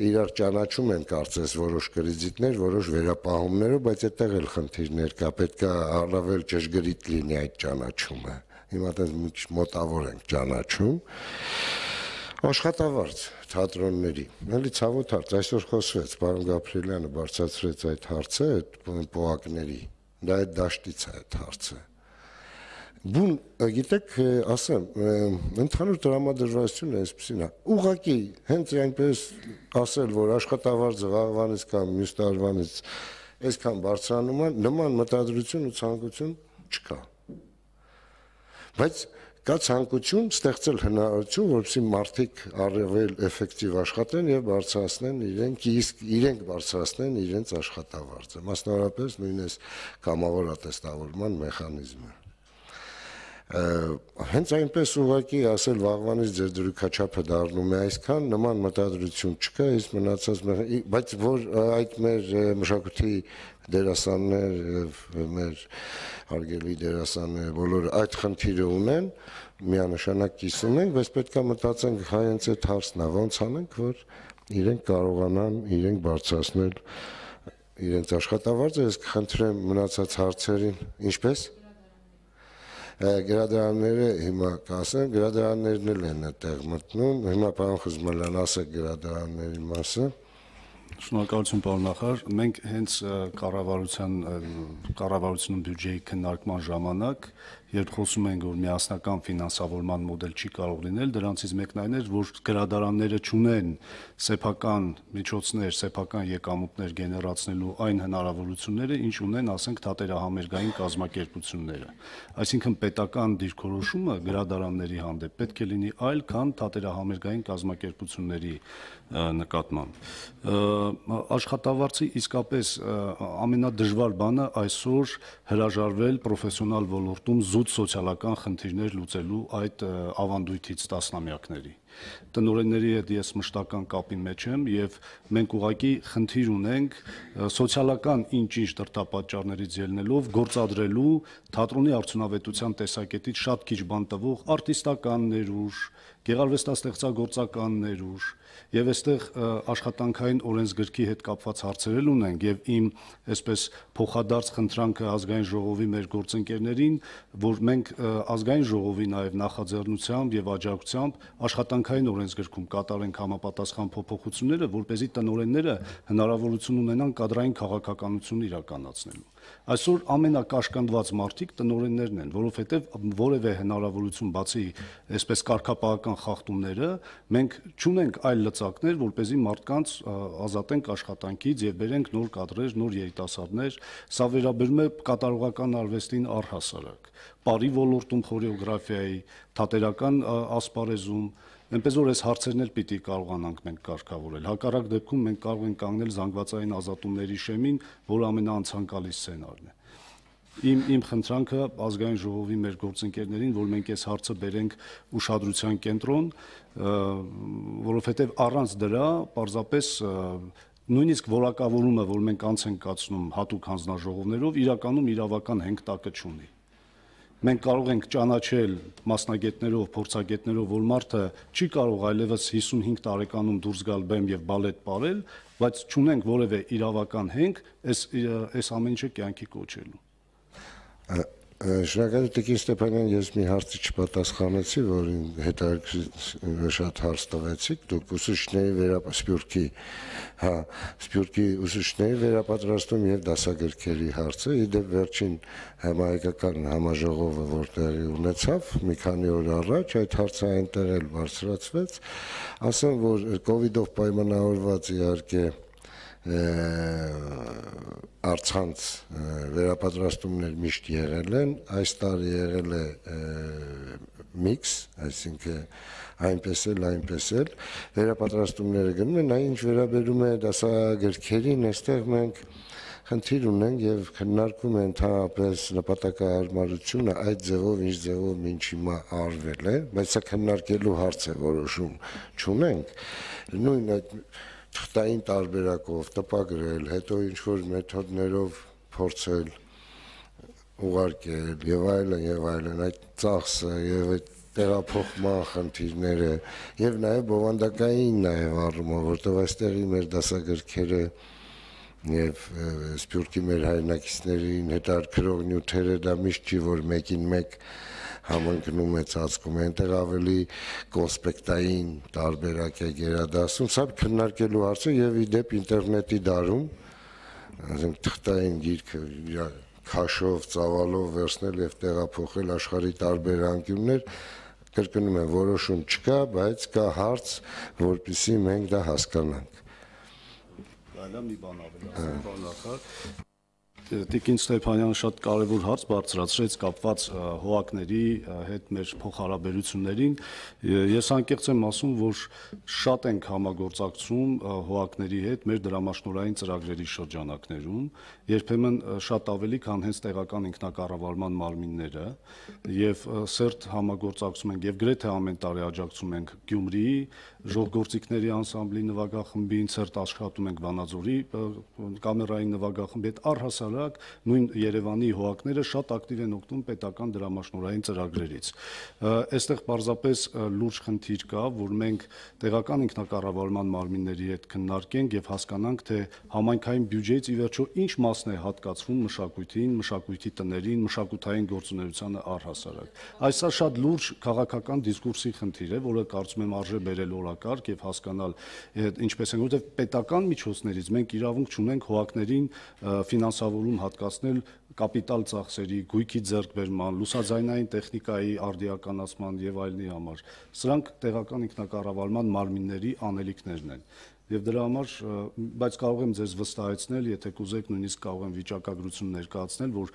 իրար ճանաչում են կարծես որոշ կրիզիտներ, որոշ վերապահումներով, բայց այդտեղ էլ խնդիրներ կա, պետք է առավել ճշգրիտ լինի այդ ճանաչումը։ Հիմա դες մոտավոր ենք ճանաչում։ Աշխատավարձ թատրոնների։ Էլի ցավոտ հարց, այսօր խոսվեց, պարոն Գաբրիելյանը բարձրացրեց այդ հարցը, այդ պոակների։ Դա այդ դաշտից է այդ հարցը։ Բուն, գիտեք, ասեմ, ընդհանուր տրամադրվածությունը այսպեսին է։ Ուղղակի հենց այնպես ասել, որ աշխատավարձը վաղվանից կամ մյուս տարվանից այսքան բարձրանում է, նման մտադրություն ու ցանկություն չկա։ Բայց կա ցանկություն ստեղծել հնարավորություն, որպեսզի մարդիկ առավել էֆեկտիվ աշխատեն եւ բարձրացնեն իրենք իսկ իրենք բարձրացնեն իրենց աշխատավարձը, մասնավորապես նույնիսկ կամավոր ատեստավորման մեխանիզմը։ Հենց այնպես ուղղակի ասել վաղվանից ձեր դրույքաչափը դառնում է այսքան, նման մտադրություն չկա, իսկ մնացած բայց որ այդ մեր մշակույթի դերասաններ եւ մեր հարգելի դերասանները բոլորը այդ խնդիրը ունեն, միանշանակ կիսում ենք, բայց պետք է մտածենք հայենց այդ հարցն է, ոնց անենք, որ իրենք կարողանան իրենք բարձրացնել իրենց աշխատավարձը, ես կխնդրեմ մնացած հարցերին, ինչպես Գրադարանները հիմա կասեմ, գրադարաններն էլ են այդտեղ մտնում, հիմա պարոն Խզմելյան ասեք գրադարանների մասը։ Շնորհակալություն պարոն նախարար, մենք հենց կառավարության կառավարությունում բյուջեի քննարկման ժամանակ, երբ խոսում ենք, որ միասնական ֆինանսավորման մոդել չի կարող լինել, դրանցից մեկն այն էր, որ գրադարանները չունեն սեփական միջոցներ, սեփական եկամուտներ գեներացնելու այն հնարավորությունները, ինչ ունեն, ասենք, թատերահամերգային կազմակերպությունները։ Այսինքն պետական դիրքորոշումը գրադարանների հանդեպ պետք է լինի այլ, քան թատերահամերգային կազմակերպությունների նկատմամբ։ Աշխատավարձի իսկապես ամենադժվար բանը այսօր հրաժարվել պրոֆեսիոնալ ոլորտում զուտ սոցիալական խնդիրներ լուծելու այդ ավանդույթից տասնամյակների։ Տնօրենների հետ ես մշտական կապի մեջ եմ եւ մենք ուղղակի խնդիր ունենք սոցիալական ինչ-ինչ դրդապատճառներից ելնելով գործադրելու թատրոնի արդյունավետության տեսակետից շատ քիչ բան տվող արտիստական ներուժ, գեղարվեստաստեղծագործական ներուժ եւ այստեղ աշխատանքային օրենսգրքի հետ կապված հարցեր ունենք եւ իմ այսպես փոխադարձ խնդրանքը ազգային ժողովի մեր գործընկերներին, որ մենք ազգային ժողովի նաեւ նախաձեռնությամբ եւ աջակցությամբ աշխատանքային օրենսգրքում կատարենք համապատասխան փոփոխությունները, որպեսզի տնօրենները հնարավորություն ունենան կադրային քաղաքականություն իրականացնելու։ Այսօր ամենակաշկանդված մարդիկ տնօրեններն են, որովհետև որևէ հնարավորություն բացի այսպես կարգապահական խախտումները մենք չունենք այլ լծակներ, որպեսզի մարդկանց ազատենք աշխատանքից եւ բերենք նոր կադրեր, նոր երիտասարդներ։ Սա վերաբերում է կատարողական արվեստին առհասարակ, պարի ոլորտում, խորեոգրաֆիայի, թատերական ասպարեզում, այնպես որ այս հարցերն էլ պիտի կարողանանք մենք կարգավորել։ Հակառակ դեպքում մենք կարող ենք կանգնել զանգվածային ազատումների շեմին, որը ամենաանցանկալի սցենարն է։ Իմ իմ խնդրանքը ազգային ժողովի մեր գործընկերներին, որ մենք այս հարցը բերենք ուշադրության կենտրոն, որովհետև առանց դրա պարզապես նույնիսկ որակավորումը, որ մենք անց ենք կացնում հատուկ հանձնաժողովներով, իրականում իրավական հենգտակը չունի։ Մենք կարող ենք ճանաչել մասնագետներով, փորձագետներով, որ մարդը չի կարող այլևս հիսունհինգ տարեկանում դուրս գալ բեմ եւ բալետ ապրել, բայց չունենք որևէ իրավական հենք այս այս ամեն ինչը կյանքի կոչելու։ Շնորհակալ Տիկին Ստեփանյան, ես մի հարցի չպատասխանեցի, որին հետաքրքիր շատ հարց տվեցիք, դուք ուսուցիչների վերապասպյուրքի, հա, սպյուրքի ուսուցիչների վերապատրաստում եւ դասագրքերի հարցը, իդեպ վերջին համահայկական համաժողովը, որ տեղի ունեցավ մի քանի օր առաջ, այդ հարցը այնտեղ էլ բարձրացվեց, ասեմ, որ կոവിഡ്ով պայմանավորված իհարկե առցանց վերապատրաստումներ միշտ եղել են, այս տարի եղել է միքս, այսինքն այնպես էլ, այնպես էլ վերապատրաստումները գնում են, այն ինչ վերաբերում է դասագրքերին, այստեղ մենք խնդիր ունենք եւ քննարկում են ընդհանրապես նպատակահարմարությունը այդ ձևով, ինչ ձևով ինչ հիմա արվել է, բայց սա քննարկելու հարց է, որոշում չունենք, նույն այդ թղթային տարբերակով տպագրել, հետո ինչ-որ մեթոդներով փորձել ուղարկել եւ այլն եւ այլն, այդ ծախսը եւ այդ տեղափոխման խնդիրները եւ նաեւ բովանդակային նաեւ առումով, որտեղ այստեղի մեր դասագրքերը եւ սփյուռքի մեր հայրենակիցներին հետաքրող նյութերը դա միշտ չի որ մեկին մեկ համընկնում է ծածկում է, այնտեղ ավելի կոնսպեկտային տարբերակ է գերադասում, սա քննարկելու հարց է եւ ի դեպ ինտերնետի դարում, ասենք թղթային գիրքը քաշով, ծավալով վերցնել եւ տեղափոխել աշխարհի տարբեր անկյուններ, կրկնում եմ, որոշում չկա, բայց կա հարց, որպեսզի մենք դա հասկանանք։ Այլա մի բան ավելացնեմ, պարոն նախարար։ Տիկին Ստեփանյանը շատ կարևոր հարց բարձրացրեց կապված հողակների հետ մեր փոխհարաբերություններին։ Ես անկեղծ եմ ասում, որ շատ ենք համագործակցում հողակների հետ մեր դրամաշնորհային ծրագրերի շրջանակներում, երբեմն շատ ավելի, քան հենց տեղական ինքնակառավարման մարմինները, եւ սերտ համագործակցում ենք եւ գրեթե ամեն տարի աջակցում ենք Գյումրիի ժողովրդիկների անսամբլի նվագախմբին, սերտ աշխատում ենք Վանաձորի կամերային նվագախմբի հետ, առհասարակ նույն Երևանի հողակները շատ ակտիվ են օգտվում պետական դրամաշնորհային ծրագրերից։ Այստեղ պարզապես լուրջ խնդիր կա, որ մենք տեղական ինքնակառավարման մարմինների հետ քննարկենք եւ հասկանանք, թե համայնքային բյուջեից ի վերջո ինչ մասն է հատկացվում մշակույթին, մշակույթի տներին, մշակութային գործունեությանը առհասարակ։ Այսա շատ լուրջ քաղաքական դիսկուրսի խնդիր է, որը կարծում եմ արժե բերել օրակարգ եւ հասկանալ ինչպես են, որովհետեւ պետական միջոցներից մենք իրավունք չունենք հողակներին ֆինանսավորում հատկացնել կապիտալ ծախսերի, գույքի ձեռքբերման, լուսաձայնային տեխնիկայի արդիականացման եւ այլնի համար։ Սրանք տեղական ինքնակառավարման մարմինների անելիքներն են։ Եվ դրա համար, բայց կարող եմ ձեզ վստահեցնել, եթե կուզեք, նույնիսկ կարող եմ վիճակագրություն ներկայացնել, որ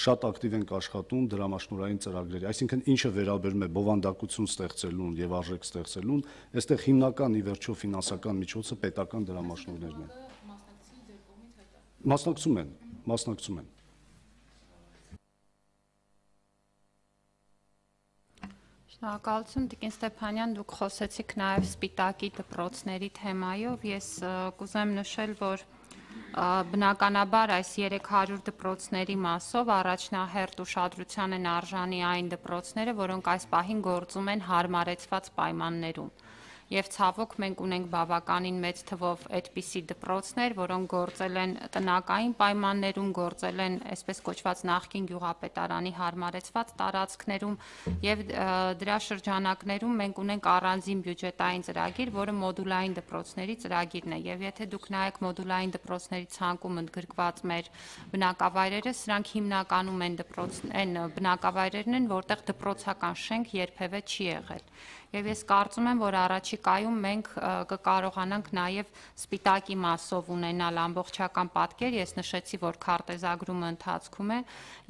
շատ ակտիվ ենք աշխատում դրամաշնորհային ծրագրերի, այսինքն ինչը վերաբերում է բովանդակություն ստեղծելուն եւ արժեք ստեղծելուն, այստեղ հիմնական ի վերջո ֆինանսական միջոցը պետական դրամաշնորհներն են։ Մասնակցում են, մասնակցում են։ Շնորհակալություն Տիկին Ստեփանյան, դուք խոսեցիք նաև սպիտակի դպրոցների թեմայով, ես կուզեմ նշել, որ բնականաբար այս երեք հարյուր դպրոցների մասով առաջնահերթ ուշադրության են արժանի այն դպրոցները, որոնք այս պահին գործում են հարմարեցված պայմաններում։ Եվ ցավոք մենք ունենք բավականին մեծ թվով այդպիսի դպրոցներ, որոնք գործել են տնական պայմաններում, գործել են այսպես կոչված նախկին գյուղապետարանի հարմարեցված տարածքներում եւ դրա շրջանակներում մենք ունենք առանձին բյուջետային ծրագիր, որը մոդուլային դպրոցների ծրագիրն է եւ եթե դուք նայեք մոդուլային դպրոցների ցանկում ընդգրկված մեր բնակավայրերը, սրանք հիմնականում են դպրոց են բնակավայրերն են, որտեղ դպրոցական շենք երբևէ չի եղել։ Եվ ես կարծում եմ, որ առաջիկայում մենք կկարողանանք նաև սպիտակի մասով ունենալ ամբողջական պատկեր, ես նշեցի, որ քարտեզագրումը ընթացքում է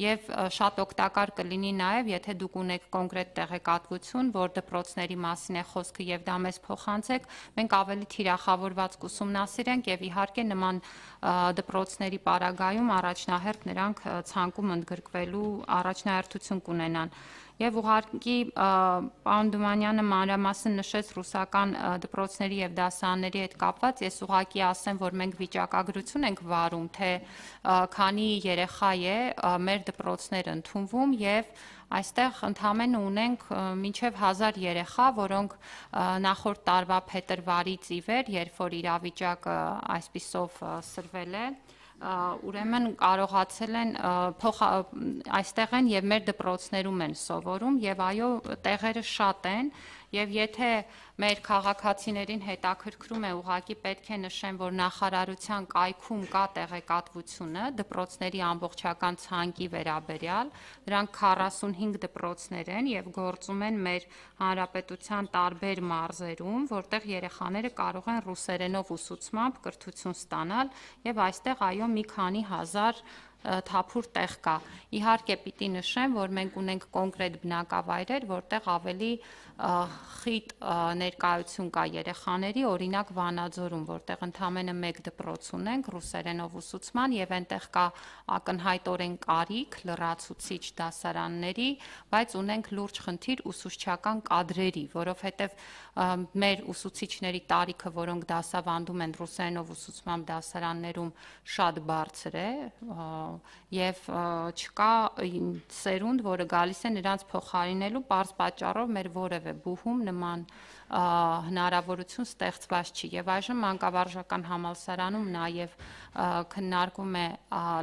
եւ շատ օգտակար կլինի նաև, եթե դուք ունեք կոնկրետ տեղեկատվություն, որ դպրոցների մասին է խոսքը եւ դա մեզ փոխանցեք, մենք ավելի թիրախավորված կուսումնասիրենք եւ իհարկե նման դպրոցների պարագայում առաջնահերթ նրանք ցանկում ընդգրկվելու առաջնահերթություն կունենան։ Եվ ուղղակի պարոն Դումանյանը մանրամասն նշեց ռուսական դպրոցների եւ դասարանների հետ կապված, ես ուղղակի ասեմ, որ մենք վիճակագրություն ենք վարում, թե քանի երեխա է մեր դպրոցներ ընդունվում եւ այստեղ ընդամենը ունենք մինչև հազար երեխա, որոնք նախորդ տարվա փետրվարից ի վեր, երբ որ իրավիճակը այսպիսով սրվել է, ուրեմն կարողացել են այստեղ են եւ մեր դպրոցներում են սովորում եւ այո տեղերը շատ են եւ եթե մեր քաղաքացիներին հետաքրքրում է, ուղղակի պետք է նշեմ, որ նախարարության կայքում կա տեղեկատվությունը դպրոցների ամբողջական ցանկի վերաբերյալ, դրանք քառասունհինգ դպրոցներ են եւ գործում են մեր հանրապետության տարբեր մարզերում, որտեղ երեխաները կարող են ռուսերենով ուսուցմամբ կրթություն ստանալ եւ այստեղ այո մի քանի հազար թափուր տեղ կա։ Իհարկե պիտի նշեմ, որ մենք ունենք կոնկրետ բնակավայրեր, որտեղ ավելի խիտ ներկայություն կա երեխաների, օրինակ Վանաձորում, որտեղ ընդամենը մեկ դպրոց ունենք ռուսերենով ուսուցման եւ այնտեղ կա ակնհայտորեն կարիք լրացուցիչ դասարանների, բայց ունենք լուրջ խնդիր ուսուցչական կադրերի, որովհետեւ մեր ուսուցիչների տարիքը, որոնք դասավանդում են ռուսերենով ուսուցման դասարաններում, շատ բարձր է եւ չկա սերունդ, որը գալիս է նրանց փոխարինելու, պարզ պատճառով մեր որևէ բուհում նման հնարավորություն ստեղծված չի եւ այժմ մանկավարժական համալսարանում նաեւ քննարկում է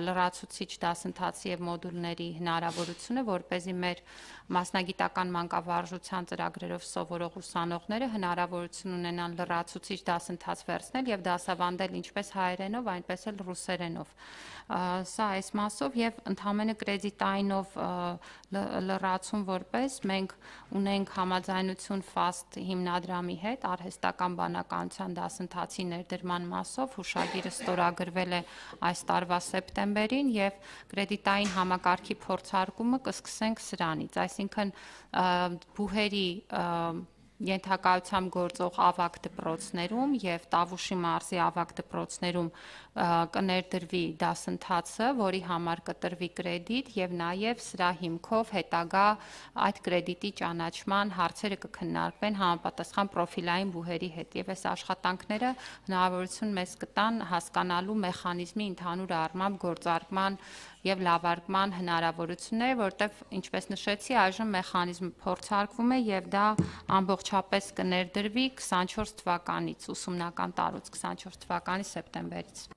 լրացուցիչ դասընթացի եւ մոդուլների հնարավորությունը, որպեսզի մեր մասնագիտական մանկավարժության ծրագրերով սովորող ուսանողները հնարավորություն ունենան լրացուցիչ դասընթաց վերցնել եւ դասավանդել ինչպես հայերենով, այնպես էլ ռուսերենով։ Սա այս մասով եւ ընդհանրապես կրեդիտայինով լրացում որպես մենք ունենք համաձայնություն ֆաստ հիմնադրամի հետ արհեստական բանականության դասընթացի ներդրման մասով հուշագիրը ստորագրվել է այս տարվա սեպտեմբերին եւ կրեդիտային համակարգի փորձարկումը կսկսենք սրանից, այսինքն բուհերի ենթակայությամբ գործող ավագ դպրոցներում եւ Տավուշի մարզի ավագ դպրոցներում կներդրվի դասընթացը, որի համար կտրվի կրեդիտ եւ նաեւ սրա հիմքով հետագա այդ կրեդիտի ճանաչման հարցերը կքննարկվեն համապատասխան պրոֆիլային բուհերի հետ եւ այս աշխատանքները հնարավորություն մեզ կտան հասկանալու մեխանիզմի ընդհանուր առմամբ գործարկման եւ լավարկման հնարավորությունները, որտեղ ինչպես նշեցի, այժմ մեխանիզմը փորձարկվում է եւ դա ամբողջապես կներդրվի քսանչորս թվականից, ուսումնական տարուց քսանչորս թվականի սեպտեմբերից։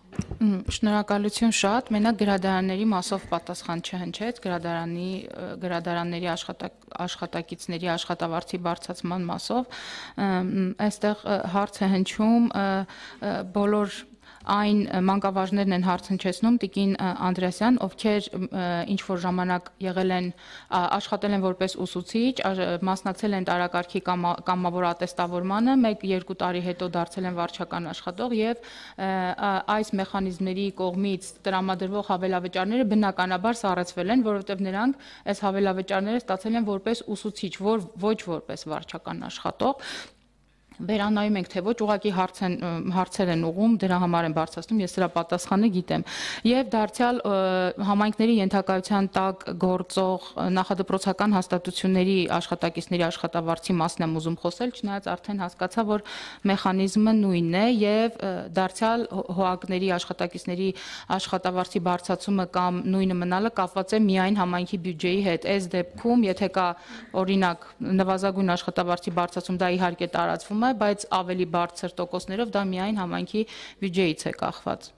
Շնորհակալություն շատ, մենակ գրադարանների մասով պատասխան չհնչեց, գրադարանի գրադարանների աշխատակիցների աշխատավարձի բարձրացման մասով, այստեղ հարց է հնչում բոլոր այն մանկավարժներն են հարց հնչեցնում Տիկին Անդրեասյան, ովքեր ինչ որ ժամանակ եղել են աշխատել են որպես ուսուցիչ, մասնակցել են տարակարգի կամավոր ատեստավորմանը, մեկ երկու տարի հետո դարձել են վարչական աշխատող եւ այս մեխանիզմների կողմից տրամադրվող հավելավճարները բնականաբար սառեցվել են, որովհետեւ նրանք այս հավելավճարները ստացել են որպես ուսուցիչ, որ ոչ որպես վարչական աշխատող։ Վերանայում ենք, թե ոչ, ուղղակի հարց են, հարցեր են ուղում, դրա համար են բարձրացնում, ես սրա պատասխանը գիտեմ։ Եվ դարձյալ համայնքների ենթակայության տակ գործող նախադպրոցական հաստատությունների աշխատակիցների աշխատավարձի մասն եմ ուզում խոսել, չնայած արդեն հասկացա, որ մեխանիզմը նույնն է եւ դարձյալ հոագների աշխատակիցների աշխատավարձի բարձրացումը կամ նույնը մնալը կապված է միայն համայնքի բյուջեի հետ։ Այս դեպքում, եթե կա օրինակ նվազագույն աշխատավարձի բարձրացում, դա իհարկե տարածվում է, բայց ավելի բարձր տոկոսներով դա միայն համայնքի բյուջեից է կախված։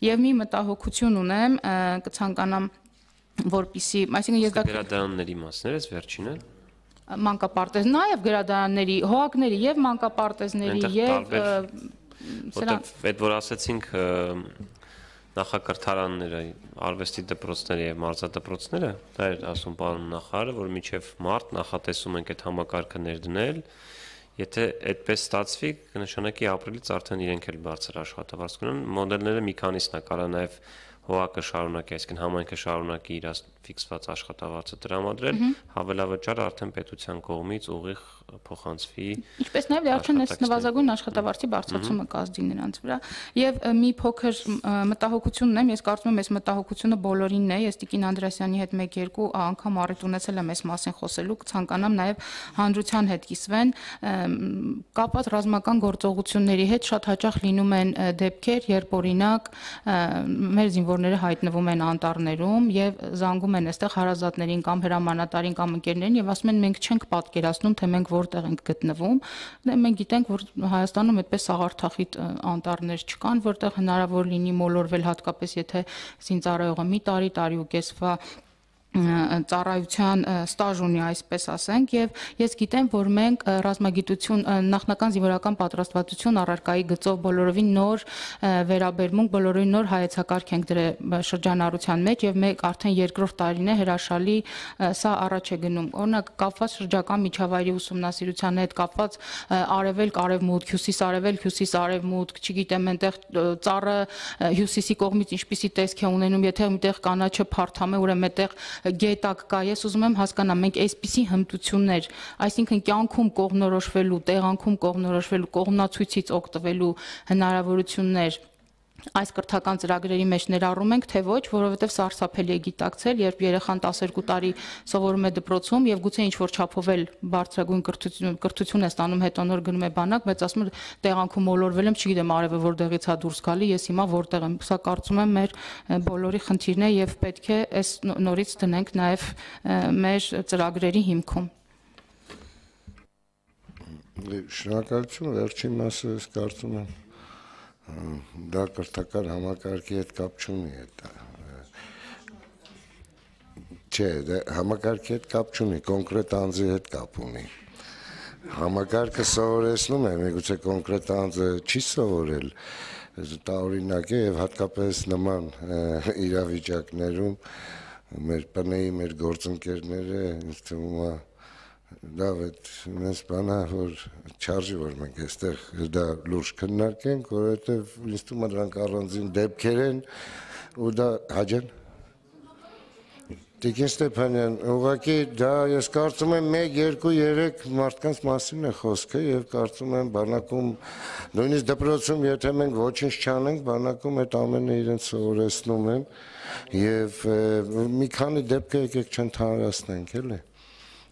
Եվ մի մտահոգություն ունեմ, կցանկանամ, որպեսզի, այսինքն ես դա գրադարանների մասն է, վերջինը մանկապարտեզ, նաև գրադարանների, հոագների եւ մանկապարտեզների եւ սրանք այդ որ ասեցինք նախակրթարանները, արվեստի դպրոցները եւ մարզադպրոցները, դա էր ասում պարոն նախարարը, որ մինչեւ մարտ նախատեսում ենք այդ համակարգը ներդնել։ Եթե այդպես ստացվի, կնշանակի ապրիլից արդեն իրենք էլ բարձր աշխատավարձ կունենան, մոդելները մի քանիսն է, կարա նաև հոակը շարունակի, այսինքն համայնքը շարունակի իր ֆիքսված աշխատավարձը տրամադրել, հավելավճարը արդեն պետության կողմից ուղիղ փոխանցվի։ Ինչպես նաև արդեն այս նվազագույն աշխատավարձի բարձրացումը կազդի նրանց վրա։ Եվ մի փոքր մտահոգություն ունեմ, ես կարծում եմ այս մտահոգությունը բոլորինն է, ես Տիկին Անդրեասյանի հետ մեկ-երկու անգամ առիթ ունեցել եմ այս մասին խոսելու, կցանկանամ նաև հանրության հետ կիսվեն, կապված ռազմական գործողությունների հետ շատ հաճախ լինում են դեպքեր, երբ օրինակ մեր զինվորները հայտնվում են անտառներում եւ զանգում են այստեղ հարազատներին կամ հրամանատարին կամ ընկերներին եւ ասում են մենք չենք պատկերացնում, թե մենք որտեղ ենք գտնվում։ Մենք գիտենք, որ Հայաստանում այդպես սաղարթախիտ անտառներ չկան, որտեղ հնարավոր լինի մոլորվել, հատկապես եթե զինծառայողը մի տարի, տարի ու կեսվա ծառայության ստաժ ունի, այսպես ասենք, եւ ես գիտեմ, որ մենք ռազմագիտություն նախնական զինվորական պատրաստվածություն առարկայի գծով բոլորովին նոր վերաբերմունք, բոլորովին նոր հայեցակարգ ենք դրել շրջանառության մեջ եւ մենք արդեն երկրորդ տարին է հրաշալի սա առաջ է գնում։ Օրինակ կապված շրջակա միջավայրի ուսումնասիրության հետ կապված արևելք, արևմուտք, հյուսիս-արևելք, հյուսիս-արևմուտք, չգիտեմ, այնտեղ ծառը հյուսիսի կողմից ինչպիսի տեսք է ունենում, եթե միտեղ կանաչը փարթամ է, ուրեմն այդտեղ գետակ կա, ես ուզում եմ հասկանալ, մենք այսպիսի հմտություններ, այսինքն կյանքում կողմնորոշվելու, տեղանքում կողմնորոշվելու, կողմնացույցից օգտվելու հնարավորություններ այս կրթական ծրագրերի մեջ ներառում ենք, թե ոչ, որովհետև սարսափելի է գիտակցել, երբ երեխան տասներկու տարի սովորում է դպրոցում եւ գուցե ինչ-որ չափով էլ բարձրագույն կրթություն կրթություն է ստանում, հետո նոր գնում է բանակ, բայց ասում է տեղանքում մոլորվել եմ, չգիտեմ արևը որտեղից է դուրս գալի, ես հիմա որտեղ եմ։ Սա կարծում եմ մեր բոլորի խնդիրն է եւ պետք է այս նորից դնենք նաեւ մեր ծրագրերի հիմքում։ Շնորհակալություն, վերջին մասը ես կարծում եմ դա կրթական համակարգի հետ կապ չունի, չէ, համակարգի հետ կապ չունի, կոնկրետ անձի հետ կապ ունի։ Համակարգը սովորեցնում է, միգուցե կոնկրետ անձը չի սովորել, տարօրինակ է եւ հատկապես նման իրավիճակներում մեր ՊՆ-ի, մեր գործընկերները ինձ թվում է լավ է, մեզ բանա, որ չարժի, որ մենք այստեղ դա լուրջ քննարկենք, որովհետև ինձ թվում է դրանք առանձին դեպքեր են ու դա հաջեն։ Տիկին Ստեփանյան, ուղղակի դա ես կարծում եմ մեկ, երկու, երեք մարդկանց մասին է խոսքը եւ կարծում եմ բանակում նույնիսկ դպրոցում եթե մենք ոչինչ չանենք, բանակում այդ ամենը իրենց սովորեցնում են եւ մի քանի դեպք եկեք չընդհանրացնենք, էլի։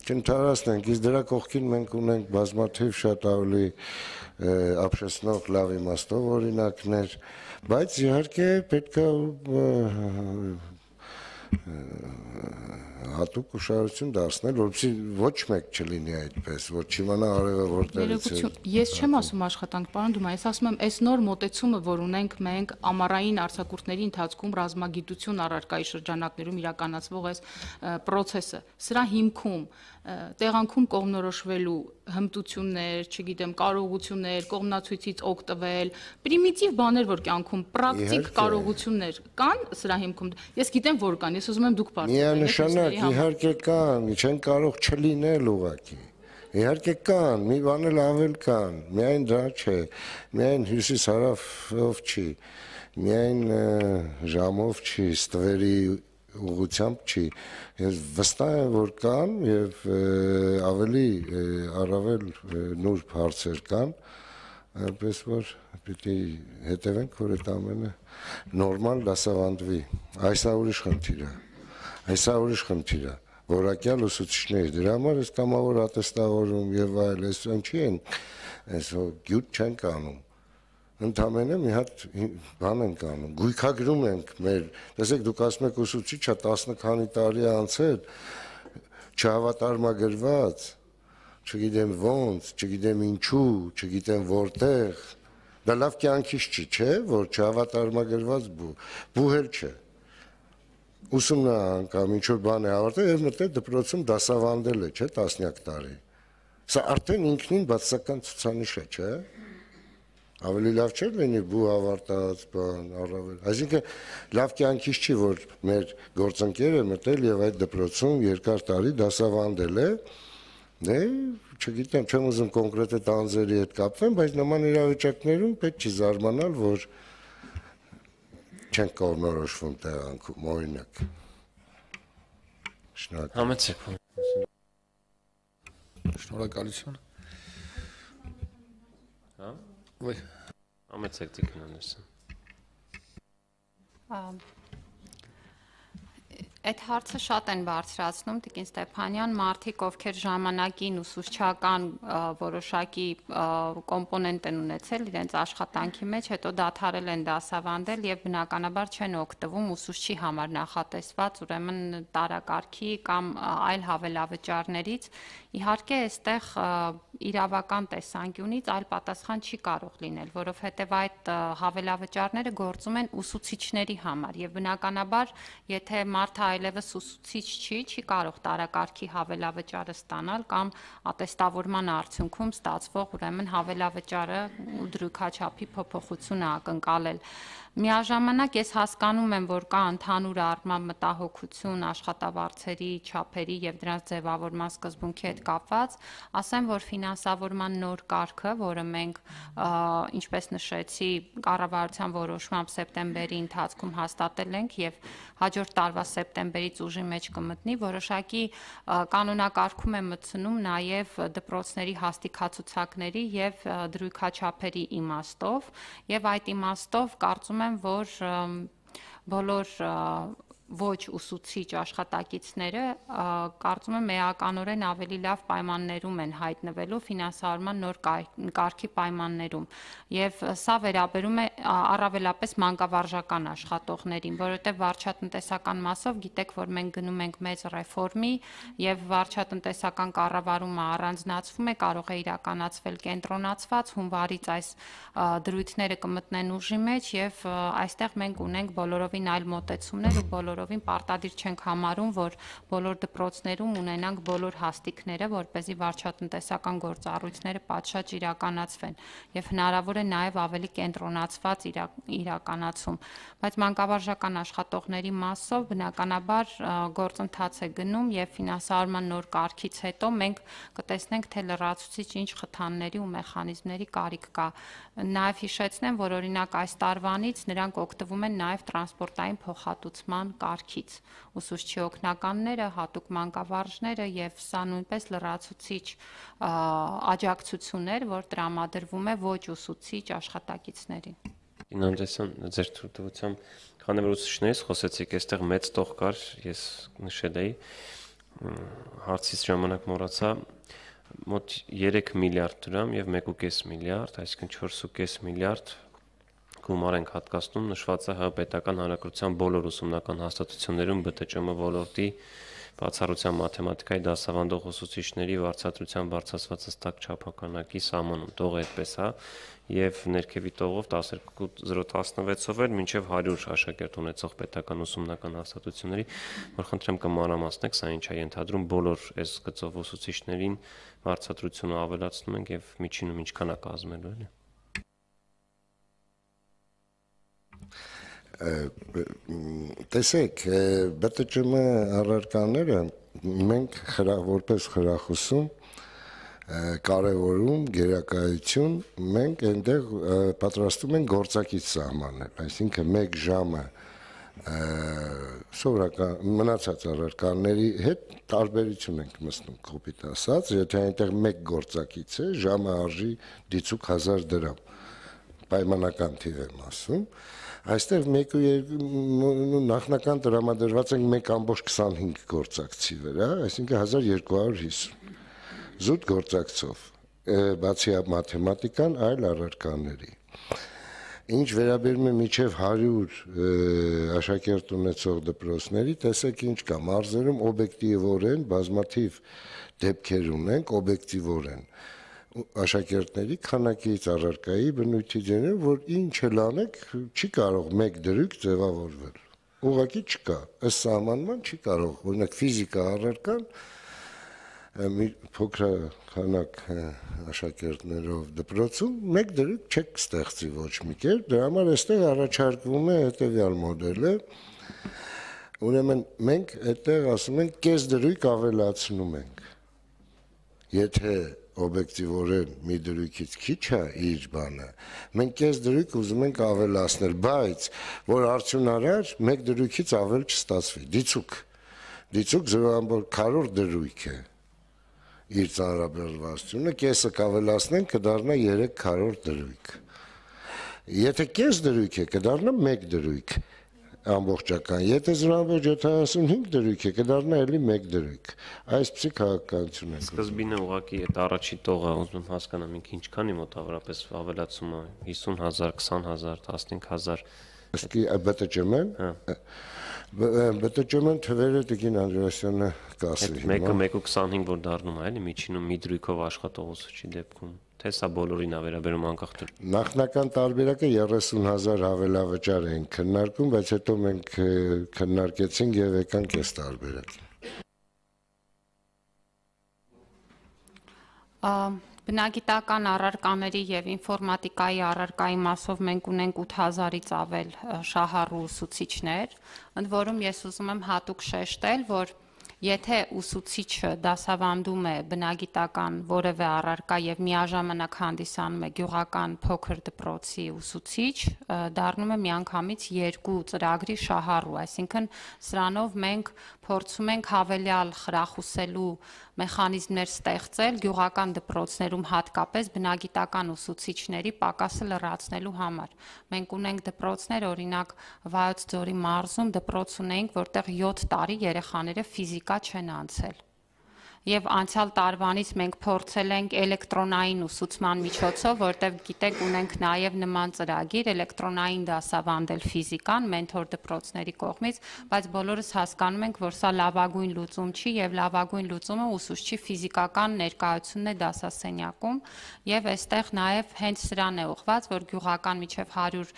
Չընդհանրացնենք, իսկ դրա կողքին մենք ունենք բազմաթիվ շատ ավելի ապշեցնող լավ իմաստով օրինակներ, բայց իհարկե պետք է հատուկ ուշադրություն դարձնել, որպեսզի ոչ մեկ չլինի այդպես, որ չիմանա արևը որտեղից է։ Ես չեմ ասում աշխատանք, պարոն Դումա, ես ասում եմ, այս նոր մոտեցումը, որ ունենք մենք ամառային արձակուրդների ընթացքում ռազմագիտություն առարկայի շրջանակներում իրականացվող այս process-ը, սրա հիմքում տեղանքում կողմնորոշվելու հմտություններ, չգիտեմ, կարողություններ, կողմնացույցից օգտվել, պրիմիտիվ բաներ, որ կյանքում պրակտիկ կարողություններ կան սրա հիմքում։ Ես գիտեմ, որ կան, ես ուզում եմ դուք բարձրացնեք։ Միանշանակ, իհարկե կան, չեն կարող չլինել ուղղակի։ Իհարկե կան, մի բան էլ ավել կան, միայն դա չէ, միայն հյուսիս-հարավով չի, միայն ժամով չի, ստվերի ուղղությամբ չի, ես վստահ եմ, որ կան եւ ավելի առավել նուրբ հարցեր կան, այնպես որ պիտի հետևենք, որ այդ ամենը նորմալ դասավանդվի, այս է ուրիշ խնդիր է, այս է ուրիշ խնդիր է, որակյալ ուսուցիչների, դրա համար ես կամավոր ատեստավորում եւ այլ, այս ինչի են, այս գյուտ չեն կանում, ընդամենը մի հատ բան ենք անում, գույքագրում ենք մեր, տեսեք դուք ասում եք ուսուցիչը տասը քանի տարի անցել, չհավատարմագրված, չգիտեմ ոնց, չգիտեմ ինչու, չգիտեմ որտեղ, դա լավ կյանքից չի, չէ, որ չհավատարմագրված բուհել չէ, ուսումնան կամ ինչ-որ բան է ավարտել եւ մտել դպրոցում դասավանդել է, չէ, տասնյակ տարի, սա արդեն ինքնին բացասական ցուցանիշ է, չէ, ավելի լավ չէր լինի բու ավարտած բան, առավել, այսինքն լավ կյանքից չի, որ մեր գործընկերը մտել եւ այդ դպրոցում երկար տարի դասավանդել է, դե չգիտեմ, չեմ ուզում կոնկրետ այդ անձերի հետ կապվեմ, բայց նման իրավիճակներում պետք չի զարմանալ, որ չեն կողմնորոշվում տեղանքում, օրինակ։ Շնորհակալ։ Համեցեք։ Շնորհակալություն։ Հա։ Ոյ։ Համեցեք Տիկին Անդերսեն։ Այդ հարցը շատ են բարձրացնում Տիկին Ստեփանյան, մարդիկ, ովքեր ժամանակին ուսուցչական որոշակի կոմպոնենտ են ունեցել իրենց աշխատանքի մեջ, հետո դադարել են դասավանդել եւ բնականաբար չեն օգտվում ուսուցչի համար նախատեսված ուրեմն տարակարգի կամ այլ հավելավճարներից։ Իհարկե, այստեղ իրավական տեսանկյունից այլ պատասխան չի կարող լինել, որովհետև այդ հավելավճարները գործում են ուսուցիչների համար եւ բնականաբար, եթե մարդը այլ այլևս ուսուցիչ չի, չի կարող տարակարգի հավելավճարը ստանալ կամ ատեստավորման արդյունքում ստացվող ուրեմն հավելավճարը ու դրույքաչափի փոփոխությունը ակնկալել։ Միաժամանակ ես հասկանում եմ, որ կա ընդհանուր առմամբ մտահոգություն աշխատավարձերի չափերի եւ դրանց ձևավորման սկզբունքի հետ կապված, ասեմ, որ ֆինանսավորման նոր կարգը, որը մենք, ինչպես նշեցի, կառավարության որոշմամբ սեպտեմբերի ընթացքում հաստատել ենք եւ հաջորդ տարվա սեպտեմբերից ուժի մեջ կմտնի, որոշակի կանոնակարգում է մտցնում նաեւ դպրոցների հաստիքացուցակների եւ դրույքաչափերի իմաստով եւ այդ իմաստով կարծում եմ, որ բոլոր ոչ ուսուցիչ աշխատակիցները կարծում եմ էականորեն ավելի լավ պայմաններում են հայտնվելու ֆինանսավորման նոր կարգի պայմաններում եւ սա վերաբերում է առավելապես մանկավարժական աշխատողներին, որովհետեւ վարչատնտեսական մասով գիտեք, որ մենք գնում ենք մեծ ռեֆորմի եւ վարչատնտեսական կառավարումը առանձնացվում է, կարող է իրականացվել կենտրոնացված, հունվարից այս դրույթները կմտնեն ուժի մեջ եւ այստեղ մենք ունենք բոլորովին այլ մոտեցումներ ու բոլոր Ովին պարտադիր չենք համարում, որ բոլոր դպրոցներում ունենանք բոլոր հաստիկները, որպեսզի վարչատնտեսական գործառույթները պատշաճ իրականացվեն եւ հնարավոր է նաեւ ավելի կենտրոնացված իրականացում, բայց մանկավարժական աշխատողների մասով բնականաբար գործընթաց է գնում եւ ֆինանսավորման նոր կարգից հետո մենք կտեսնենք, թե լրացուցիչ ինչ խթանների ու մեխանիզմների կարիք կա։ Նաեւ հիշեցնեմ, որ օրինակ այս տարվանից նրանք օգտվում են նաեւ տրանսպորտային փոխհատուցման կարգից, ուսուցչի օգնականները, հատուկ մանկավարժները եւ սա նույնպես լրացուցիչ աջակցություն էր, որ տրամադրվում է ոչ ուսուցիչ աշխատակիցներին։ Ինամջեսյան, ձեր թույլտվությամբ, քանի որ ուսուցիչներից խոսեցիք, այստեղ մեծ տող կար, ես նշել էի, հարցից ժամանակ մոռացա, մոտ երեք միլիարդ դրամ եւ մեկ կես միլիարդ, այսինքն չորս կես միլիարդ գումար ենք հատկացնում, նշված է ՀՀ պետական հանրակրթության բոլոր ուսումնական հաստատություններում ԲՏՃՄ ոլորտի բացառության մաթեմատիկայի դասավանդող ուսուցիչների վարձատրության բարձրացված հստակ չափանակի սահմանում, տողը այդպես է, եւ ներքևի տողով տասներկու զրո տասնվեցով էր մինչեւ հարյուր աշակերտ ունեցող պետական ուսումնական հաստատությունների, որ խնդրեմ կմանրամասնեք, սա ինչ է ենթադրում բոլոր այս գծով ուսուցիչներին վարձատրությունը ավելացնում ենք եւ միջինում ինչքան է կազմելու, էլի։ Տեսեք, ԲՏՃՄ առարկաները մենք որպես խրախուսում կարևորում գերակայություն, մենք այնտեղ պատրաստում ենք գործակից սահմանել, այսինքն մեկ ժամը սովորական մնացած առարկաների հետ տարբերություն ենք մտնում, կոպիտ ասած, եթե այնտեղ մեկ գործակից է, ժամը արժի դիցուք հազար դրամ, պայմանական թիվ եմ ասում, այստեղ մեկ ու երկու նախնական տրամադրված ենք մեկ ամբողջ քսանհինգ գործակցի վրա, այսինքն հազար երկու հարյուր հիսուն զուտ գործակցով, բացի մաթեմատիկան, այլ առարկաների։ Ինչ վերաբերում է մինչև հարյուր աշակերտ ունեցող դպրոցների, տեսեք ինչ կա, մարզերում օբյեկտիվորեն բազմաթիվ դեպքեր ունենք, օբյեկտիվորեն աշակերտների քանակից առարկայի բնույթի ձևը, որ ինչ էլ անեք, չի կարող մեկ դրույք ձևավորվել։ Ուղղակի չկա, ըստ սահմանման չի կարող, օրինակ ֆիզիկա առարկան փոքր քանակ աշակերտներով դպրոցում մեկ դրույք չեք ստեղծի ոչ մի կերպ, դրա համար այստեղ առաջարկվում է հետևյալ մոդելը, ուրեմն մենք այդտեղ ասում ենք կես դրույք ավելացնում ենք, եթե օբյեկտիվորեն մի դրույքից քիչ է իր բանը, մենք կես դրույք ուզում ենք ավելացնել, բայց որ արդյունարար մեկ դրույքից ավել չստացվի, դիցուք, դիցուք զրո ամբողջ քառորդ դրույք է իր ծանրաբեռնվածությունը, կեսը կավելացնենք կդառնա երեք քառորդ դրույք, եթե կես դրույք է կդառնա մեկ դրույք, ամբողջական, եթե զրո ամբողջ յոթանասունհինգ դրույք է, կդառնա էլի մեկ դրույք, այսպիսի քաղաքականություն է։ Սկզբինը ուղղակի այդ առաջի տողը ուզում եմ հասկանամ ինքը ինչքանի մոտավորապես ավելացումը հիսուն հազար, քսան հազար, տասնհինգ հազար։ Իսկ ԲՏՃՄ-ն ԲՏՃՄ-ն թվերը Տիկին Անդրեասյանը կասի։ Մեկը մեկ ու քսանհինգ որ դառնում է, էլի միջինում մի դրույքով աշխատող ուսուցչի դեպքում։ թե սա բոլորին է վերաբերում անկախ դու։ Նախնական տարբերակը երեսուն հազար հավելավճար էին քննարկում, բայց հետո մենք քննարկեցինք եւ եկանք այս տարբերակին։ Բնագիտական առարկաների եւ ինֆորմատիկայի առարկայի մասով մենք ունենք ութ հազարից ավել շահառու ուսուցիչներ, ընդ որում ես ուզում եմ հատուկ շեշտել, որ եթե ուսուցիչը դասավանդում է բնագիտական որևէ առարկա եւ միաժամանակ հանդիսանում է գյուղական փոքր դպրոցի ուսուցիչ, դառնում է միանգամից երկու ծրագրի շահառու, այսինքն սրանով մենք փորձում ենք հավելյալ խրախուսելու մեխանիզմներ ստեղծել գյուղական դպրոցներում հատկապես բնագիտական ուսուցիչների պակասը լրացնելու համար։ Մենք ունենք դպրոցներ, օրինակ Վայոց ձորի մարզում դպրոց ունենք, որտեղ յոթ տարի երեխաները ֆիզիկա չեն անցել։ Եվ անցյալ տարվանից մենք փորձել ենք էլեկտրոնային ուսուցման միջոցով, որտեղ գիտեք ունենք նաև նման ծրագիր էլեկտրոնային դասավանդել ֆիզիկան մենթոր դպրոցների կողմից, բայց բոլորս հասկանում ենք, որ սա լավագույն լուծում չի եւ լավագույն լուծումը ուսուցչի ֆիզիկական ներկայությունն է դասասենյակում եւ այստեղ նաև հենց սրան է ուղղված, որ գյուղական միջև հարյուր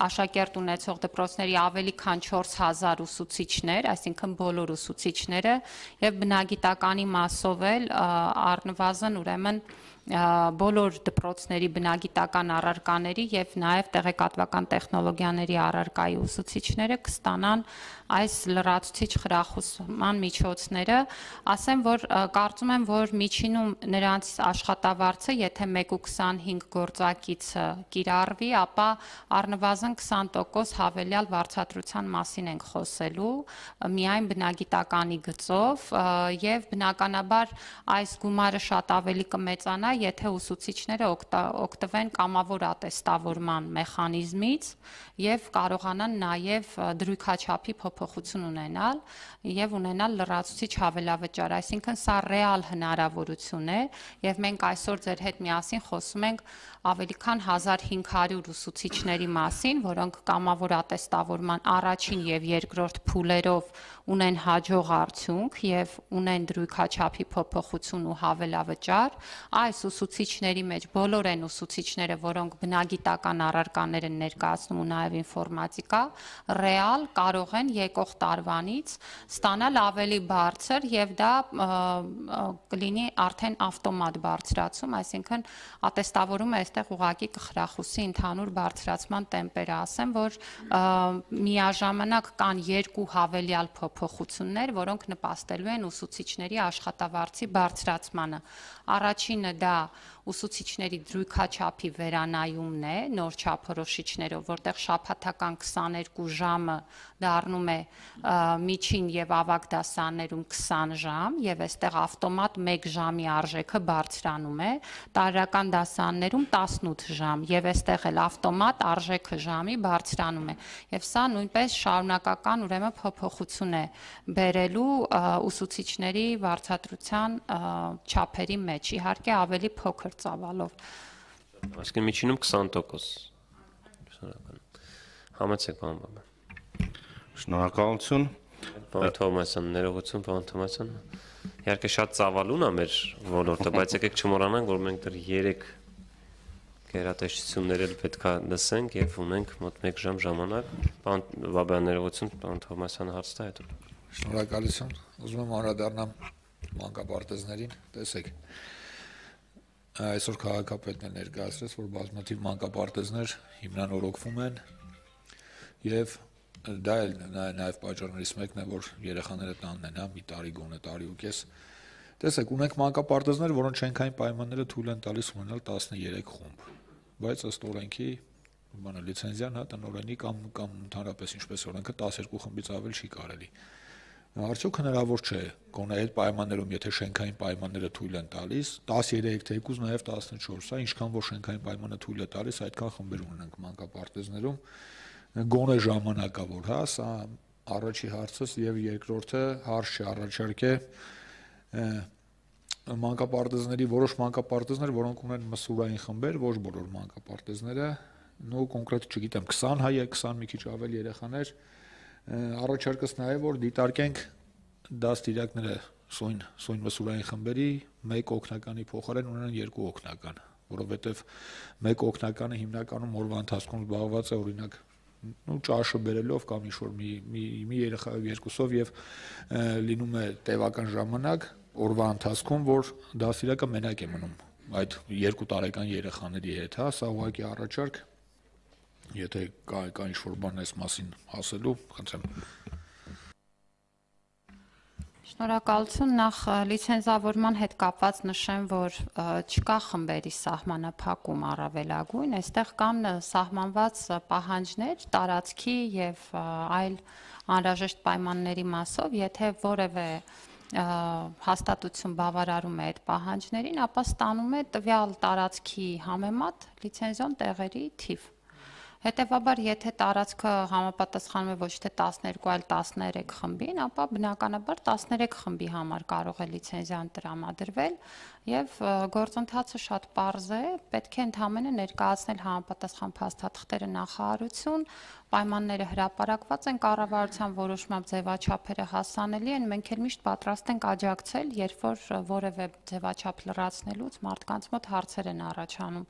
աշակերտ ունեցող դպրոցների ավելի քան չորս հազար ուսուցիչներ, այսինքն բոլոր ուսուցիչները եւ բնագիտականի մասով էլ առնվազն ուրեմն բոլոր դպրոցների բնագիտական առարկաների եւ նաեւ տեղեկատվական տեխնոլոգիաների առարկայի ուսուցիչները կստանան այս լրացուցիչ խրախուսման միջոցները, ասեմ, որ կարծում եմ, որ միջինում նրանց աշխատավարձը, եթե մեկ ու քսանհինգ գործակիցը կիրառվի, ապա առնվազն քսան տոկոս հավելյալ վարձատրության մասին ենք խոսելու, միայն բնագիտականի գծով եւ բնականաբար այս գումարը շատ ավելի կմեծանա, եթե ուսուցիչները օգտվեն կամավոր ատեստավորման մեխանիզմից եւ կարողանան նաեւ դրույքաչափի փոփոխություն ունենալ եւ ունենալ լրացուցիչ հավելավճար, այսինքն սա ռեալ հնարավորություն է եւ մենք այսօր ձեր հետ միասին խոսում ենք ավելի քան հազար հինգ հարյուր ուսուցիչների մասին, որոնք կամավոր ատեստավորման առաջին եւ երկրորդ փուլերով ունեն հաջող արդյունք եւ ունեն դրույքաչափի փոփոխություն ու հավելավճար, այս ուսուցիչների մեջ բոլոր են ուսուցիչները, որոնք բնագիտական առարկաներ են ներկայացնում ու նաեւ ինֆորմատիկա, ռեալ կարող են եկող տարվանից ստանալ ավելի բարձր եւ դա կլինի արդեն ավտոմատ բարձրացում, այսինքն ատեստավորումը այստեղ ուղղակի կխրախուսի ընդհանուր բարձրացման տեմպերը, ասեմ, որ միաժամանակ կան երկու հավելյալ փոփոխություններ, որոնք նպաստելու են ուսուցիչների աշխատավարձի բարձրացմանը։ Առաջինը դա ուսուցիչների դրույքաչափի վերանայումն է նոր չափորոշիչներով, որտեղ շաբաթական քսաներկու ժամը դառնում է միջին եւ ավագ դասարաններում քսան ժամ եւ այստեղ ավտոմատ մեկ ժամի արժեքը բարձրանում է, տարրական դասարաններում տասնութ ժամ եւ այստեղ էլ ավտոմատ արժեքը ժամի բարձրանում է եւ սա նույնպես շարունակական ուրեմն փոփոխություն է բերելու ուսուցիչների վարձատրության չափերի մեջ, իհարկե ավելի փոքր ծավալով։ Այսինքն միջինում քսան տոկոս։ Շնորհակալ։ Համեցեք, պարոն Բաբան։ Շնորհակալություն։ Պարոն Թովմասյան, ներողություն, պարոն Թովմասյան։ Իհարկե շատ ծավալուն է մեր ոլորտը, բայց եկեք չմոռանանք, որ մենք դեռ երեք գերատեսչություններ էլ պետք է լսենք եւ ունենք մոտ մեկ ժամ ժամանակ։ Պարոն Բաբան, ներողություն, պարոն Թովմասյանը հարց տա հետո։ Շնորհակալություն։ Ուզում եմ անդրադառնամ մանկապարտեզներին, տեսեք։ Այսօր քաղաքապետն է ներկայացրեց, որ բազմաթիվ մանկապարտեզներ հիմնանորոգվում են եւ դա էլ նաեւ պատճառներից մեկն է, որ երեխաները տանն են, հա, մի տարի գոնե տարի ու կես։ Տեսեք, ունենք մանկապարտեզներ, որոնց շենքային պայմանները թույլ են տալիս ունենալ տասներեք խումբ, բայց ըստ օրենքի, բանը լիցենզիան, հա, տնօրենի կամ կամ ընդհանրապես ինչպես օրենքը տասներկու խմբից ավել չի կարելի։ Արդյոք հնարավոր չէ, գոնե այդ պայմաններում, եթե շենքային պայմանները թույլ են տալիս, տասներեք թեկուզ նաև տասնչորս, հա, ինչքան որ շենքային պայմանը թույլ է տալիս, այդքան խմբեր ունենք մանկապարտեզներում, գոնե ժամանակավոր, հա, սա առաջի հարցս եւ երկրորդը հարց չառաջարկ է մանկապարտեզների որոշ մանկապարտեզներ, որոնք ունեն մսուրային խմբեր, ոչ բոլոր մանկապարտեզները, նո կոնկրետ չգիտեմ, քսան հայ է, քսան մի քիչ ավել երեխաներ, առաջարկս նաև որ դիտարկենք դաստիարակները սույն սույն մսուրային խմբերի մեկ օգնականի փոխարեն ունենան երկու օգնական, որովհետև մեկ օգնականը հիմնականում օրվա ընթացքում զբաղված է օրինակ ու ճաշը բերելով կամ ինչ-որ մի մի մի երեխա երկուսով եւ լինում է տևական ժամանակ օրվա ընթացքում, որ դասիրակը մենակ է մնում այդ երկու տարեկան երեխաների հետ, հա, սա ուղղակի առաջարկ, եթե կա կա ինչ-որ բան այս մասին ասելու, խնդրեմ։ Շնորհակալություն, նախ լիցենզավորման հետ կապված նշեմ, որ չկա խմբերի սահմանափակում առավելագույն, այստեղ կան սահմանված պահանջներ տարածքի եւ այլ անհրաժեշտ պայմանների մասով, եթե որևէ հաստատություն բավարարում է այդ պահանջներին, ապա ստանում է տվյալ տարածքի համեմատ լիցենզիոն տեղերի թիվ։ Հետևաբար, եթե տարածքը համապատասխանում է ոչ թե տասներկու, այլ տասներեք խմբին, ապա բնականաբար տասներեք խմբի համար կարող է լիցենզիան տրամադրվել եւ գործընթացը շատ պարզ է, պետք է ընդհանրապես ներկայացնել համապատասխան փաստաթղթերը նախարարություն, պայմանները հրապարակված են կառավարության որոշմամբ ձևաչափերը հասանելի են, մենք էլ միշտ պատրաստ ենք աջակցել, երբ որ որևէ ձևաչափ լրացնելուց մարդկանց մոտ հարցեր են առաջանում։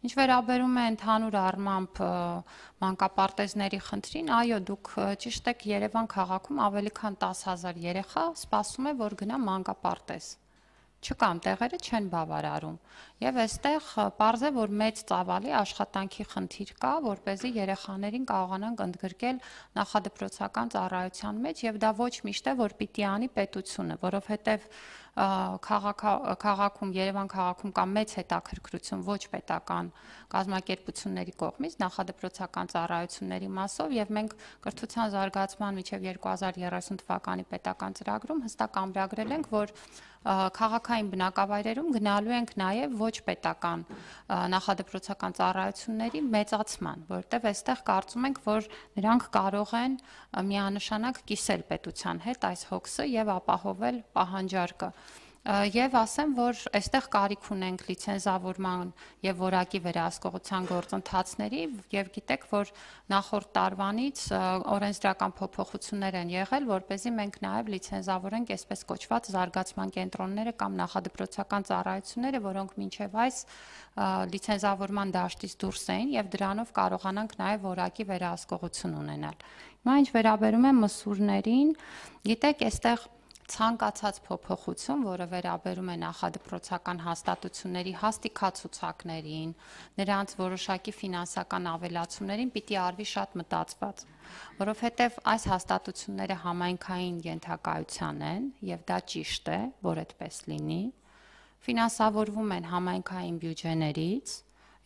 Ինչ վերաբերում է ընդհանուր առմամբ մանկապարտեզների խնդրին, այո, դուք ճիշտ եք, Երևան քաղաքում ավելի քան տասը հազար երեխա սպասում է, որ գնա մանկապարտեզ։ Չկան տեղերը չեն բավարարում եւ այստեղ պարզ է, որ մեծ ծավալի աշխատանքի խնդիր կա, որպեսզի երեխաներին կարողանանք ընդգրկել նախադպրոցական ծառայության մեջ եւ դա ոչ միշտ է, որ պիտի անի պետությունը, որովհետեւ քաղաքում Երևան քաղաքում կա մեծ հետաքրքրություն ոչ պետական կազմակերպությունների կողմից նախադպրոցական ծառայությունների մասով եւ մենք կրթության զարգացման միջև երկու հազար երեսուն թվականի պետական ծրագրում հստակ ամրագրել ենք, որ քաղաքային բնակավայրերում գնալու ենք նաև ոչ պետական նախադպրոցական ծառայությունների մեծացման, որտեղ այստեղ կարծում ենք, որ նրանք կարող են միանշանակ կիսել պետության հետ այս հոգսը եւ ապահովել պահանջարկը։ Եվ ասեմ, որ այստեղ կարիք ունենք լիցենզավորման եւ որակի վերահսկողության գործընթացների եւ գիտեք, որ նախորդ տարվանից օրենսդրական փոփոխություններ են եղել, որպեսզի մենք նաեւ լիցենզավորենք այսպես կոչված զարգացման կենտրոնները կամ նախադպրոցական ծառայությունները, որոնք մինչեւ այս լիցենզավորման դաշտից դուրս էին եւ դրանով կարողանանք նաեւ որակի վերահսկողություն ունենալ։ Հիմա ինչ վերաբերում է մսուրներին, գիտեք, այստեղ ցանկացած փոփոխություն, որը վերաբերում է նախադպրոցական հաստատությունների հաստիքացուցակներին, նրանց որոշակի ֆինանսական ավելացումներին պիտի արվի շատ մտածված, որովհետև այս հաստատությունները համայնքային ենթակայության են եւ դա ճիշտ է, որ այդպես լինի, ֆինանսավորվում են համայնքային բյուջեներից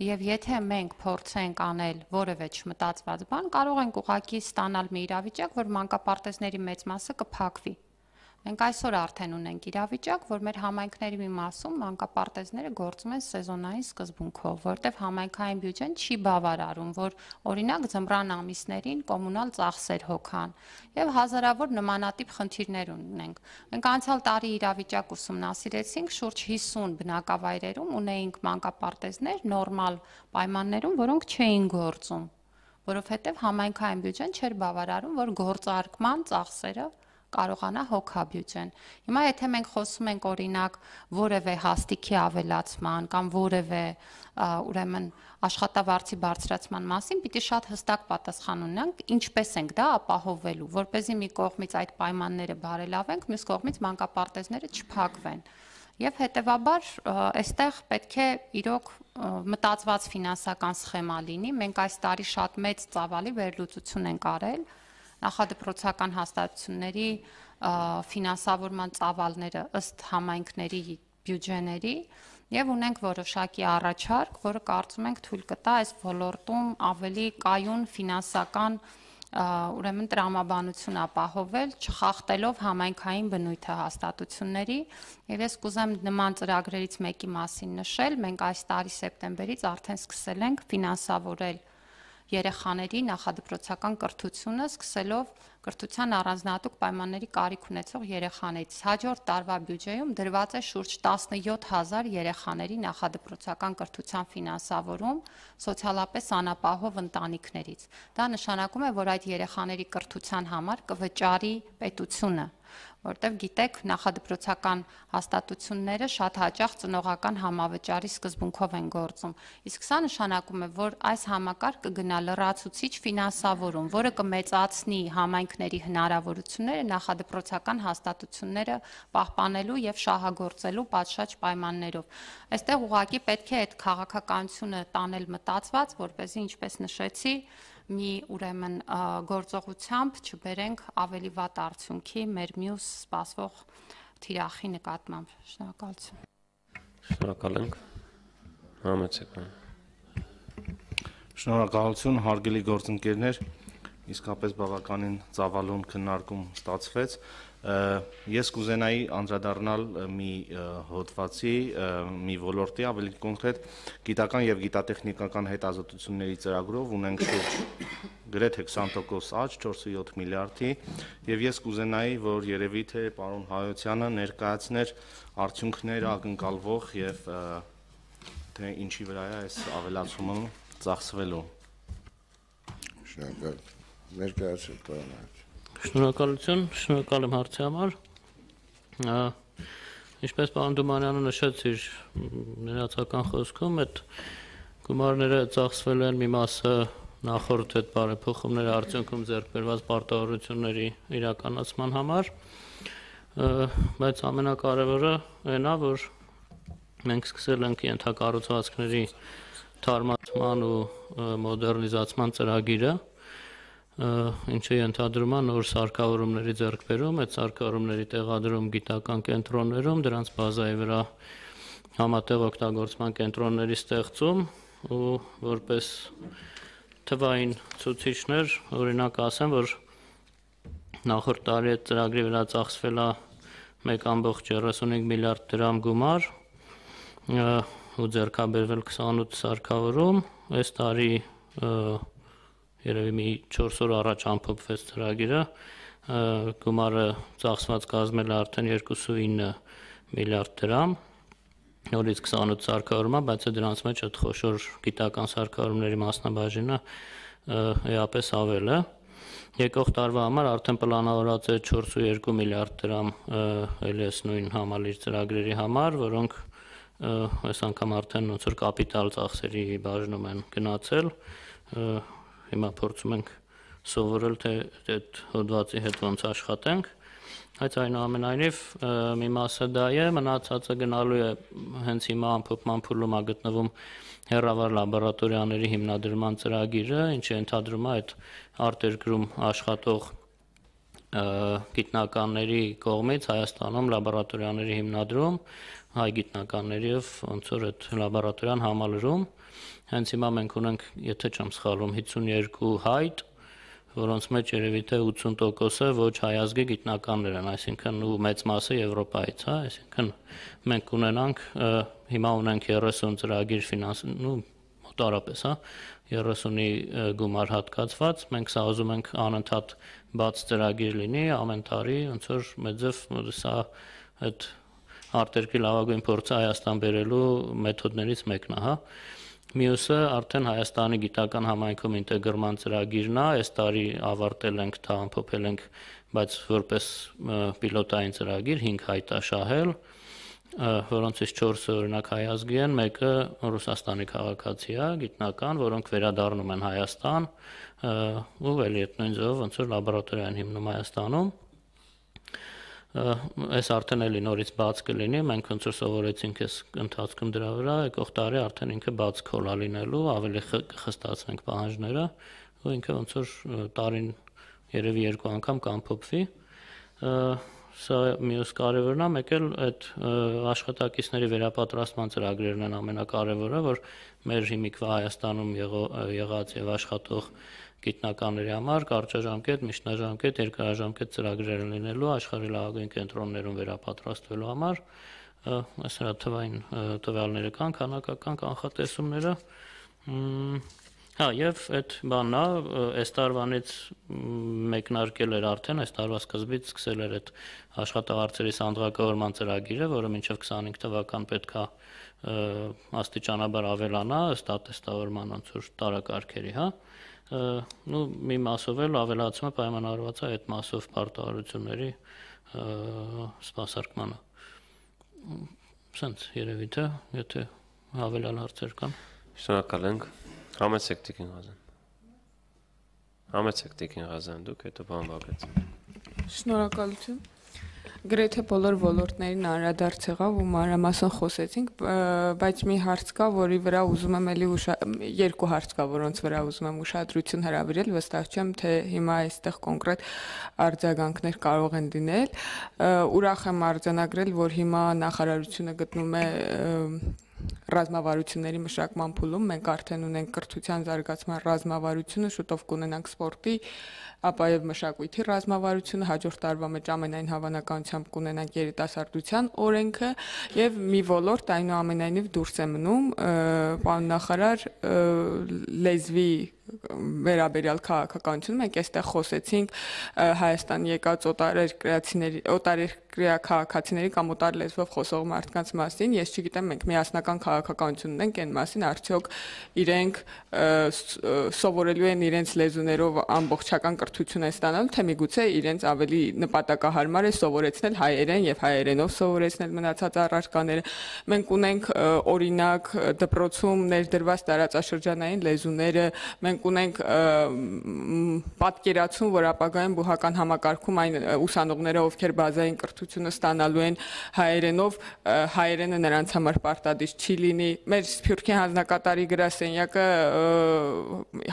եւ եթե մենք փորձենք անել որևէ չմտածված բան, կարող ենք ուղղակի ստանալ մի իրավիճակ, որ մանկապարտեզների մեծ մասը կփակվի։ Մենք այսօր արդեն ունենք իրավիճակ, որ մեր համայնքների մի մասում մանկապարտեզները գործում են սեզոնային սկզբունքով, որտեղ համայնքային բյուջեն չի բավարարում, որ օրինակ ձմռան ամիսներին կոմունալ ծախսեր հոգան եւ հազարավոր նմանատիպ խնդիրներ ունենք։ Մենք անցյալ տարի իրավիճակ ուսումնասիրեցինք, շուրջ հիսուն բնակավայրերում ունեինք մանկապարտեզներ նորմալ պայմաններում, որոնք չէին գործում, որովհետեւ համայնքային բյուջեն չէր բավարարում, որ գործարկման ծախսերը կարողանա հոգաբյուջեն։ Հիմա եթե մենք խոսում ենք օրինակ որևէ հաստիքի ավելացման կամ որևէ ուրեմն աշխատավարձի բարձրացման մասին, պիտի շատ հստակ պատասխան ունենանք, ինչպես ենք դա ապահովելու, որպեսզի մի կողմից այդ պայմանները բարելավենք, մյուս կողմից մանկապարտեզները չփակվեն։ Եվ հետեւաբար այստեղ պետք է իրոք մտածված ֆինանսական սխեմա լինի։ Մենք այս տարի շատ մեծ ծավալի վերլուծություն ենք արել նախադպրոցական հաստատությունների ֆինանսավորման ծավալները ըստ համայնքների բյուջեների եւ ունենք որոշակի առաջարկ, որը կարծում ենք թույլ կտա այս ոլորտում ավելի կայուն ֆինանսական ուրեմն տրամաբանություն ապահովել, չխախտելով համայնքային բնույթը հաստատությունների եւ ես կուզեմ նման ծրագրերից մեկի մասին նշել, մենք այս տարի սեպտեմբերից արդեն սկսել ենք ֆինանսավորել երեխաների նախադպրոցական կրթությունը, սկսելով կրթության առանձնահատուկ պայմանների կարիք ունեցող երեխաներից։ Հաջորդ տարվա բյուջեում դրված է շուրջ տասնյոթ հազար երեխաների նախադպրոցական կրթության ֆինանսավորում սոցիալապես անապահով ընտանիքներից։ Դա նշանակում է, որ այդ երեխաների կրթության համար կվճարի պետությունը որտեղ գիտեք, նախադպրոցական հաստատությունները շատ հաճախ ծնողական համավճարի սկզբունքով են գործում։ Իսկ սա նշանակում է, որ այս համակարգը կգնա լրացուցիչ ֆինանսավորում, որը կմեծացնի համայնքների հնարավորությունները նախադպրոցական հաստատությունները պահպանելու եւ շահագործելու պատշաճ պայմաններով։ Այստեղ ուղղակի պետք է այդ քաղաքականությունը տանել մտածված, որպեսզի, ինչպես նշեցի, մի ուրեմն գործողությամբ չբերենք ավելի վատ արդյունքի մեր մյուս սպասվող թիրախի նկատմամբ։ Շնորհակալություն։ Շնորհակալ ենք։ Համեցեք։ Շնորհակալություն, հարգելի գործընկերներ, իսկապես բավականին ծավալուն քննարկում ստացվեց։ Ես կուզենայի անդրադառնալ մի հոդվածի, մի ոլորտի, ավելի կոնկրետ գիտական եւ գիտատեխնիկական հետազոտությունների ծրագրով ունենք շուրջ գրեթե քսան տոկոս աճ, չորս կόμμα յոթ միլիարդի, եւ ես կուզենայի, որ երևի թե պարոն Հայոցյանը ներկայացներ արդյունքները ակնկալվող եւ թե ինչի վրա է այս ավելացումը ծախսվելու։ Շնորհակալ։ Ներկայացրեք, պարոն Հայոց։ Շնորհակալություն, շնորհակալ եմ հարցի համար։ Ինչպես պարոն Դումանյանը նշեց իր ներածական խոսքում, այդ գումարները ծախսվել են մի մասը նախորդ այդ բարեփոխումների արդյունքում ձեռք բերված պարտավորությունների իրականացման համար, բայց ամենակարևորը այն է, որ մենք սկսել ենք ենթակառուցվածքների թարմացման ու մոդեռնիզացման ծրագիրը, ինչը ենթադրում է նոր սարքավորումների ձեռքբերում, այդ սարքավորումների տեղադրում գիտական կենտրոններում, դրանց բազայի վրա համատեղ օգտագործման կենտրոնների ստեղծում ու որպես թվային ցուցիչներ, օրինակ ասեմ, որ նախորդ տարի այդ ծրագրի վրա ծախսվել է մեկ կόμma երեսունհինգ միլիարդ դրամ գումար ու ձեռքաբերվել քսանութ սարքավորում, այս տարի երևի մի չորս օր առաջ ամփոփվեց ծրագիրը, գումարը ծախսված կազմել է արդեն երկու կόμma ինը միլիարդ դրամ, նորից քսանութ սարքավորում է, բայց դրանց մեջ այդ խոշոր գիտական սարքավորումների մասնաբաժինը էապես ավել է։ Եկող տարվա համար արդեն պլանավորած է չորս կόμma երկու միլիարդ դրամ էլի էս նույն համալիր ծրագրերի համար, որոնք այս անգամ արդեն ոնց որ կապիտալ ծախսերի բաժնում են գնացել, հիմա փորձում ենք սովորել, թե այդ հոդվածի հետ ոնց աշխատենք, բայց այնուամենայնիվ մի մասը դա է, մնացածը գնալու է հենց հիմա ամփոփման փուլում է գտնվում հեռավար լաբորատորիաների հիմնադրման ծրագիրը, ինչը ենթադրում է այդ արտերկրում աշխատող գիտնականների կողմից Հայաստանում լաբորատորիաների հիմնադրում, հայ գիտնականների եւ ոնց որ այդ լաբորատորիան համալրում, հենց հիմա մենք ունենք, եթե չեմ սխալվում, հիսունյոթ հայտ, որոնց մեջ երևի թե ութսուն տոկոսը ոչ հայազգի գիտնականներ են, այսինքն ու մեծ մասը Եվրոպայից, հա, այսինքն մենք ունենանք հիմա ունենք երեսուն ծրագիր ֆինանսու մոտարապես, հա, երեսունի գումար հատկացված, մենք սա ուզում ենք անընդհատ բաց ծրագիր լինի, ամեն տարի ոնց որ մեծով սա այդ արտերկրի լավագույն փորձը Հայաստան բերելու մեթոդներից մեկն է, հա։ Մյուսը արդեն Հայաստանի գիտական համայնքում ինտեգրման ծրագիրն է, այս տարի ավարտել ենք, դա ամփոփել ենք, բայց որպես պիլոտային ծրագիր հինգ հայտ է շահել, որոնցից չորսը օրինակ հայազգի են, մեկը Ռուսաստանի քաղաքացի է, գիտնական, որոնք վերադառնում են Հայաստան, ու էլի այդ նույն ձևով ոնց որ լաբորատորիա են հիմնում Հայաստանում։ Այս արդեն էլի նորից բաց կլինի, մենք ոնց որ սովորեցինք այս ընթացքում դրա վրա, եկող տարի արդեն ինքը բաց քոլա լինելու, ավելի կխստացնենք պահանջները, ու ինքը ոնց որ տարին երևի երկու անգամ կամփոփվի։ Սա մյուս կարևորն է, մեկ էլ այդ աշխատակիցների վերապատրաստման ծրագրերն են ամենակարևորը, որ մեր հիմիկվա Հայաստանում եղած եւ աշխատող գիտնականների համար կարճաժամկետ, միջնաժամկետ, երկարաժամկետ ծրագրեր են լինելու աշխարհի լավագույն կենտրոններում վերապատրաստվելու համար, այս հրա թվային տվյալները կան, քանակական կանխատեսումները, հա, եւ այդ բանն է, այս տարվանից մեկնարկել էր արդեն, այս տարվա սկզբից սկսել էր այդ աշխատավարձերի սանդղակավորման ծրագիրը, որը մինչեւ քսանհինգ թվական պետք է աստիճանաբար ավելանա ըստ ատեստավորման ոնց որ տարակարգերի, հա, ու մի մասով էլ ավելացումը պայմանավորված է այդ մասով պարտավորությունների սպասարկմանը։ Սենց երևի թե, եթե հավելյալ հարցեր կան։ Շնորհակալ ենք։ Համեցեք Տիկին Ղազան։ Համեցեք Տիկին Ղազան, դուք հետո բան Բագրատ։ Շնորհակալություն։ Գրեթե բոլոր ոլորտներին անդրադարձ եղավ ու մանրամասն խոսեցինք, բայց մի հարց կա, որի վրա ուզում եմ էլի երկու հարց կա, որոնց վրա ուզում եմ ուշադրություն հրավիրել, վստահ չեմ, թե հիմա այստեղ կոնկրետ արձագանքներ կարող են լինել։ Ուրախ եմ արձանագրել, որ հիմա նախարարությունը գտնում է ռազմավարությունների մշակման փուլում, մենք արդեն ունենք կրթության զարգացման ռազմավարությունը, շուտով կունենանք սպորտի, ապա եւ մշակույթի ռազմավարությունը, հաջորդ տարվա մեջ ամենայն հավանականությամբ կունենանք երիտասարդության օրենքը եւ մի ոլորտ այնուամենայնիվ դուրս է մնում, պարոն նախարար, լեզվի վերաբերյալ քաղաքականություն, մենք այստեղ խոսեցինք Հայաստան եկած օտարերկրացիների, օտարերկրյա քաղաքացիների կամ օտար լեզվով խոսող մարդկանց մասին, ես չգիտեմ, մենք միասնական քաղաքականություն ունենք այն մասին, արդյոք իրենք սովորելու են իրենց լեզուներով ամբողջական կրթություն են ստանալու, թե միգուցե իրենց ավելի նպատակահարմար է սովորեցնել հայերեն եւ հայերենով սովորեցնել մնացած առարկաները։ Մենք ունենք օրինակ դպրոցում ներդրված տարածաշրջանային լեզուները, մենք ունենք պատկերացում, որ ապագայում բուհական համակարգում այն ուսանողները, ովքեր բազային կրթությունը ստանալու են հայերենով, հայերենը նրանց համար պարտադիր չի լինի։ Մեր Սփյուռքի հանձնակատարի գրասենյակը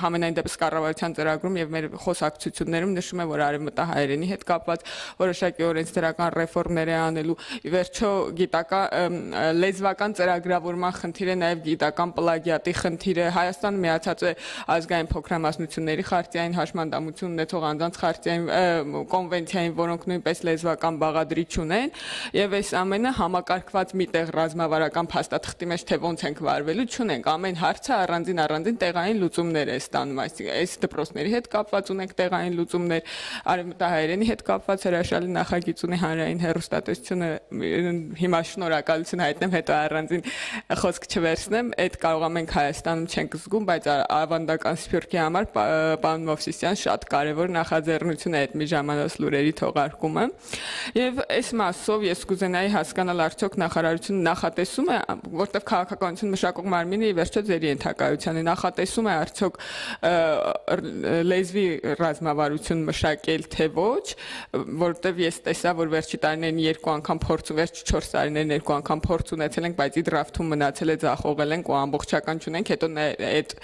համենայն դեպս կառավարության ծրագրում եւ մեր խոսակցություններում նշում է, որ արևմտահայերենի հետ կապված որոշակի օրենսդրական ռեֆորմներ է անելու։ Ի վերջո գիտական լեզվական ծրագրավորման խնդիրը, նաեւ գիտական պլագիատի խնդիրը, Հայաստանը միացած է ազգային փոքրամասնությունների խարտիային, հաշմանդամություն ունեցող անձանց խարտիային կոնվենցիային, որոնք նույնպես լեզվական բաղադրիչ ունեն, եւ այս ամենը համակարգված միտեղ ռազմավարական փաստաթղթի մեջ թե ոնց ենք վարվելու չունենք, ամեն հարցը առանձին առանձին տեղային լուծումներ է ստանում, այսինքն այս դպրոցների հետ կապված ունենք տեղային լուծումներ, արևմտահայերենի հետ կապված հրաշալի նախագիծ ունի հանրային հեռուստատեսությունը, հիմա շնորհակալություն հայտնեմ, հետո առանձին խոսք չվերցնեմ, այդ կարող ենք Հայաստանում չենք զգում, բայց ավանդական Սփյուռքի համար պարոն Մովսիսյան շատ կարևոր նախաձեռնություն է այդ մի ժամանակ լուրերի թողարկումը, եւ այս մասով ես կուզենայի հասկանալ արդյոք նախարարությունը նախատեսում է, որտեղ քաղաքականություն մշակող մարմինը ի վերջո ձեր ենթակայության է, նախատեսում է արդյոք լեզվի ռազմավարություն մշակել թե ոչ, որտեղ ես տեսա, որ վերջի տարիներին երկու անգամ փորձ, վերջի չորս տարիներին երկու անգամ փորձ ունեցել ենք, բայց իդրաֆթում մնացել է, ձախողել ենք ու ամբողջական չունենք, հետո այդ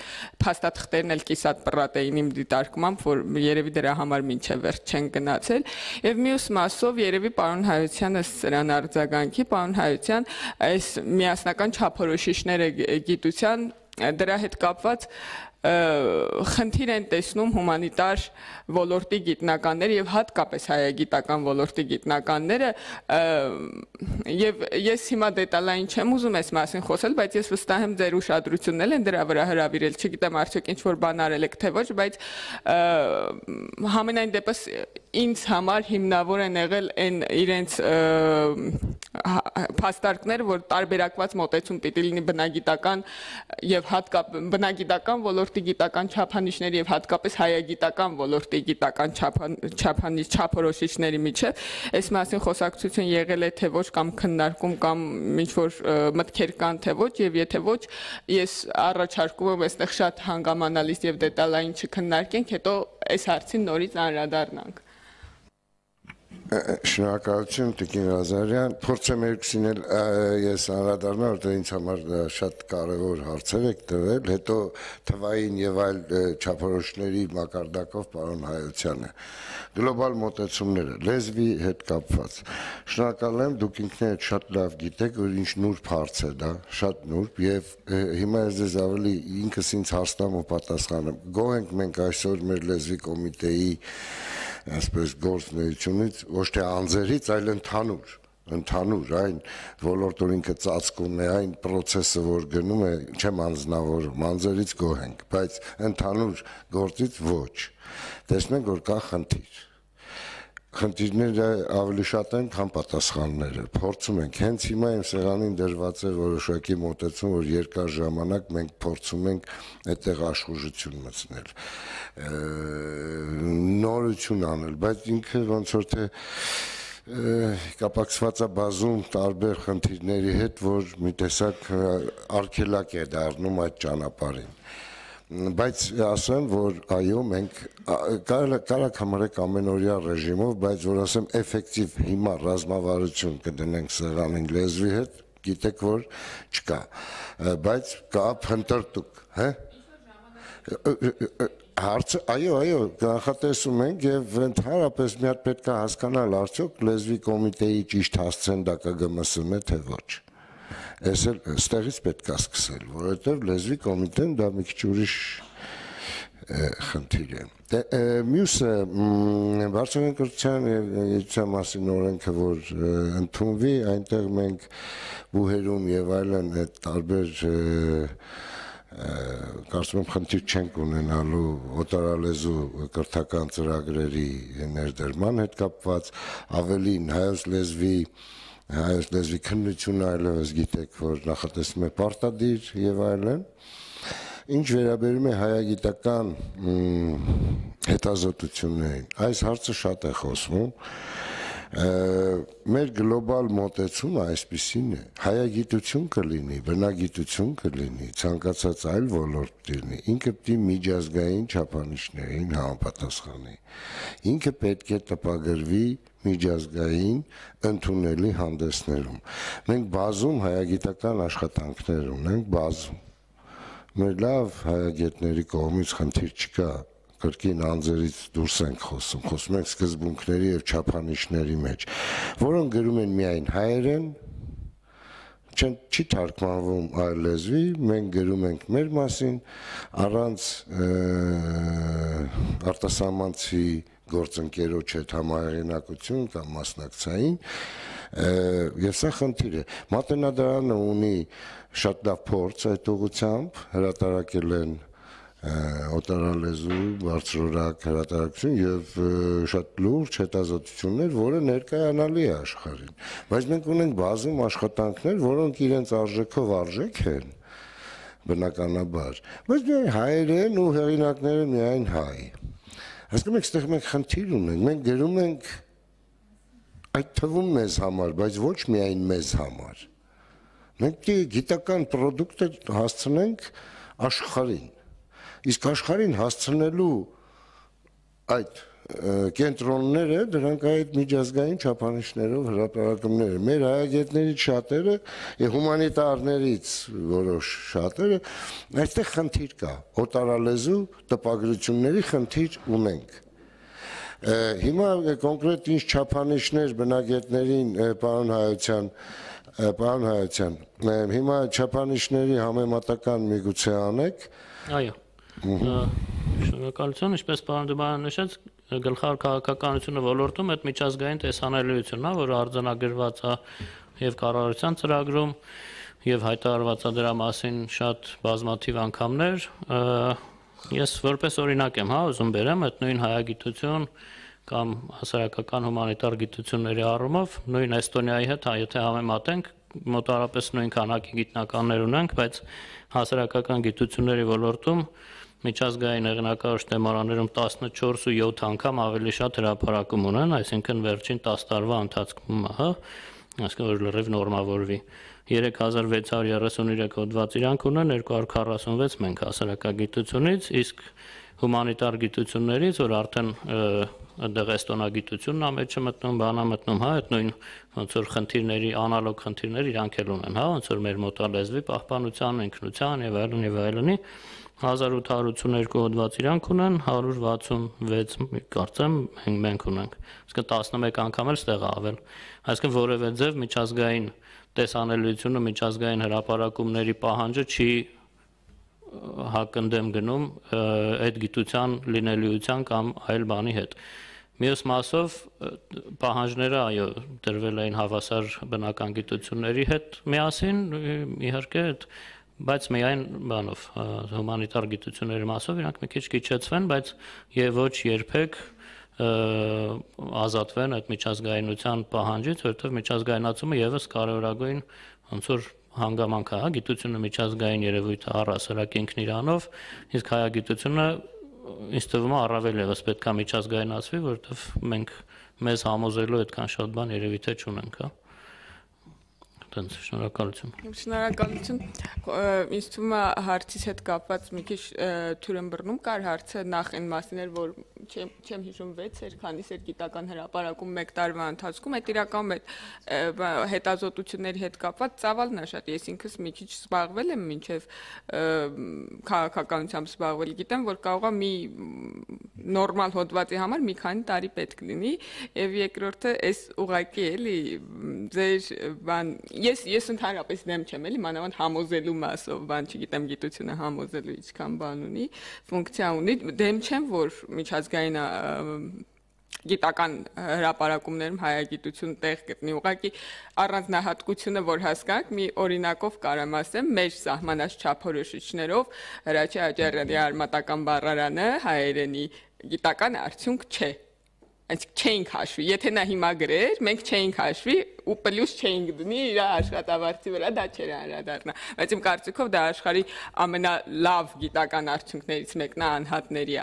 փաստաթղթերն էլ կիսատ պռատ էին իմ դիտարկմամբ, որ երևի դրա համար մինչև վերջ չեն գնացել, եւ մյուս մասով երևի պարոն Հայությանը սրան արձագանքի, պարոն Հայության այս միասնական չափորոշիչները գիտության դրա հետ կապված խնդիր են տեսնում հումանիտար ոլորտի գիտնականները եւ հատկապես հայագիտական ոլորտի գիտնականները, եւ ես հիմա դետալային չեմ ուզում այս մասին խոսել, բայց ես վստահ եմ ձեր ուշադրությունն են դրա վրա հրավիրել, չգիտեմ արդյոք ինչ որ բան արել եք թե ոչ, բայց համենայն դեպս ինձ համար հիմնավոր են եղել այն իրենց փաստարկները, որ տարբերակված մոտեցում պիտի լինի բնագիտական եւ հատկապես բնագիտական ոլորտի գիտական չափանիշների եւ հատկապես հայագիտական ոլորտի գիտական չափանիշ չափորոշիչների միջեւ այս մասին խոսակցություն եղել է թե ոչ կամ քննարկում կամ ինչ որ մտքեր կան թե ոչ եւ եթե ոչ ես առաջարկում եմ այստեղ շատ հանգամանալից եւ դետալային չքննարկենք, հետո այս հարցին նորից անդրադառնանք։ Շնորհակալություն Տիկին Ղազարյան, փորձեմ երկուսին էլ ես անդրադառնալ, որտեղ ինձ համար շատ կարևոր հարցեր եք տվել, հետո թվային եւ այլ չափորոշիչների մակարդակով պարոն Հայությանը։ Գլոբալ մոտեցումները, լեզվի հետ կապված։ Շնորհակալ եմ, դուք ինքներդ շատ լավ գիտեք, որ ինչ նուրբ հարց է դա, շատ նուրբ եւ հիմա ես ձեզ ավելի ինքս ինձ հարցնամ ու պատասխանեմ։ Գոհ ենք մենք այսօր մեր լեզվի կոմիտեի այսպես գործունեությունից ոչ թե անձերից, այլ ընդհանուր, ընդհանուր այն ոլորտը ինքը ծածկում է, այն process-ը, որ գնում է, չեմ անձնավորում, անձերից գոհ ենք, բայց ընդհանուր գործից ոչ։ Տեսնենք, որ կա խնդիր։ Խնդիրները ավելի շատ են, քան պատասխանները։ Փորձում ենք, հենց հիմա իմ սեղանին դրված է որոշակի մոտեցում, որ երկար ժամանակ մենք փորձում ենք այդտեղ աշխուժություն մտցնել, նորություն անել, բայց ինքը ոնց որ թե կապակցված է բազում տարբեր խնդիրների հետ, որ մի տեսակ արգելակ է դառնում այդ ճանապարհին։ Բայց ասեմ, որ այո, մենք կարակ համարեք ամենօրյա ռեժիմով, բայց որ ասեմ էֆեկտիվ հիմա ռազմավարություն կդնենք սեղանին լեզվի հետ, գիտեք որ չկա, բայց կա փնտրտուք, հա։ Հարցը, այո, այո, նախատեսում ենք եւ ընդհանրապես մի հատ պետք է հասկանալ արդյոք լեզվի կոմիտեի ճիշտ հասցեն դա կգմսում է թե ոչ։ Այս էլ ստեղից պետք է սկսել, որովհետեւ լեզվի կոմիտեն դա մի քիչ ուրիշ խնդիր է։ Մյուսը վարչական կրթության եւ գիտության մասին օրենքը, որ ընդունվի, այնտեղ մենք բուհերում եւ այլն այդ տարբեր կարծում եմ խնդիր չենք ունենալու օտարալեզու կրթական ծրագրերի ներդրման հետ կապված, ավելին հայոց լեզվի հայոց լեզվի քննությունը այլևս գիտեք, որ նախատեսվում է պարտադիր եւ այլն։ Ինչ վերաբերում է հայագիտական հետազոտություններին, այս հարցը շատ է խոսվում։ Մեր գլոբալ մոտեցումը այսպիսին է, հայագիտություն կլինի, բնագիտություն կլինի, ցանկացած այլ ոլորտ լինի, ինքը պիտի միջազգային չափանիշներին համապատասխանի, ինքը պետք է տպագրվի միջազգային ընդունելի հանդեսներում։ Մենք բազում հայագիտական աշխատանքներ ունենք, բազում։ Մեր լավ հայագետների կողմից խնդիր չկա, կրկին անձերից դուրս ենք խոսում, խոսում ենք սկզբունքների եւ չափանիշների մեջ, որոնք գրում են միայն հայերեն, չեն չի թարգմանվում այլ լեզվի, մենք գրում ենք մեր մասին, առանց արտասահմանցի գործընկերոջ հետ համահեղինակություն կամ մասնակցային, եւ սա խնդիր է։ Մատենադարանը ունի շատ լավ փորձ այդ ուղղությամբ, հրատարակել են օտարալեզու բարձրորակ հրատարակություն եւ շատ լուրջ հետազոտություններ, որը ներկայանալի է աշխարհին։ Բայց մենք ունենք բազում աշխատանքներ, որոնք իրենց արժեքով արժեք են, բնականաբար, բայց միայն հայերեն ու հեղինակները միայն հայ։ Հասկանում եք, այստեղ մենք խնդիր ունենք, մենք գրում ենք այդ թվում մեզ համար, բայց ոչ միայն մեզ համար։ Մենք գիտական պրոդուկտը հասցնենք աշխարհին։ Իսկ աշխարհին հասցնելու այդ կենտրոնները դրանք այդ միջազգային չափանիշներով հրապարակումներ են։ Մեր հայագետներից շատերը եւ հումանիտարներից որոշ շատերը այստեղ խնդիր կա, օտարալեզու տպագրությունների խնդիր ունենք։ Հիմա կոնկրետ ինչ չափանիշներ բնագետներին պարոն Հայության պարոն Հայության, հիմա չափանիշների համեմատական միգուցե անեք։ Այո։ Շնորհակալություն, ինչպես պարոն Դուբարյանը նշեց, գլխավոր քաղաքականությունը ոլորտում այդ միջազգային տեսանելիությունն է, որը արձանագրված է եւ կառավարության ծրագրում եւ հայտարարված է դրա մասին շատ բազմաթիվ անգամներ։ Ես որպես օրինակ եմ, հա, ուզում բերեմ այդ նույն հայագիտություն կամ հասարակական հումանիտար գիտությունների առումով նույն Էստոնիայի հետ, հա, եթե համեմատենք, մոտավորապես նույն քանակի գիտնականներ ունենք, բայց հասարակական գիտությունների ոլորտում միջազգային հեղինակավոր շտեմարաներում տասնչորս ու յոթ անգամ ավելի շատ հրապարակում ունեն, այսինքն վերջին տասը տարվա ընթացքում, հա, այսինքն որ լրիվ նորմավորվի։ երեք հազար վեց հարյուր երեսուններեք հոդված իրանք ունեն, երկու հարյուր քառասունվեց մենք հասարակագիտությունից, իսկ հումանիտար գիտություններից, որ արդեն այդտեղ էստոնագիտությունն է մեջը մտնում, բանա մտնում, հա, այդ նույն ոնց որ խնդիրների, անալոգ խնդիրներ իրանք էլ ունեն, հա, ոնց որ մեր մոտալեզվի պահպանության, ինքնության եւ այլն եւ այլնի հազար ութ հարյուր ութսուներկու հոդված իրանք ունեն, հարյուր վաթսունվեց կարծեմ մենք ունենք։ Իսկ տասնմեկ անգամ էլ ստեղ ավել։ Այսինքն որևէ ձև միջազգային տեսանելիությունը, միջազգային հրապարակումների պահանջը չի հակընդդեմ գնում այդ գիտության լինելիության կամ այլ բանի հետ։ Մյուս մասով պահանջները այո դրվել էին հավասար բնական գիտությունների հետ միասին, իհարկե, բայց միայն բանով հումանիտար գիտությունների մասով իրանք մի քիչ քիչեցվեն, բայց եւ ոչ երբեք ազատվեն այդ միջազգայնության պահանջից, որովհետեւ միջազգայնացումը եւս կարևորագույն ոնց որ հանգամանք է, հա, գիտությունը միջազգային երևույթ է առհասարակ ինքն իրանով, իսկ հայագիտությունը ինձ թվում է առավել եւս պետք է միջազգայնացվի, որովհետեւ մենք մեզ համոզելու այդքան շատ բան երևի թե չունենք, հա։ Տենց շնորհակալություն։ Շնորհակալություն։ Ինձ թվում է հարցից հետ կապված մի քիչ թյուրըմբռնում կար հարցը նախ այն մասին էր, որ չեմ չեմ հիշում վեց էր, քանիս էր գիտական հրապարակում մեկ տարվա ընթացքում, այդ իրական այդ հետազոտությունների հետ կապված ծավալն է շատ։ Ես ինքս մի քիչ զբաղվել եմ մինչև քաղաքականությամբ զբաղվել, գիտեմ, որ կարող է մի նորմալ հոդվածի համար մի քանի տարի պետք լինի, եւ երկրորդը այս ուղղակի էլի ձեր բան Ես ես ընդհանրապես դեմ չեմ էլի մանավանդ համոզելու մասով, բան չգիտեմ, գիտությունը համոզելու ինչքան բան ունի, ֆունկցիա ունի, դեմ չեմ, որ միջազգային գիտական հրապարակումներում հայագիտություն տեղ գտնի, ուղղակի առանձնահատկությունը, որ հասկանանք, մի օրինակով կարամ ասեմ, մեր սահմանած չափորոշիչներով Հրաչյա Աջարյանի արմատական բառարանը հայերենի գիտական արդյունք չէ։ Այսինքն չենք հաշվի, եթե նա հիմա գրեր, մենք չենք հաշվի ու պլյուս չենք դնի իր աշխատավարձի վրա, դա չէր անդրադառնա։ Բայց իմ կարծիքով դա աշխարհի ամենալավ գիտական արդյունքներից մեկն է անհատների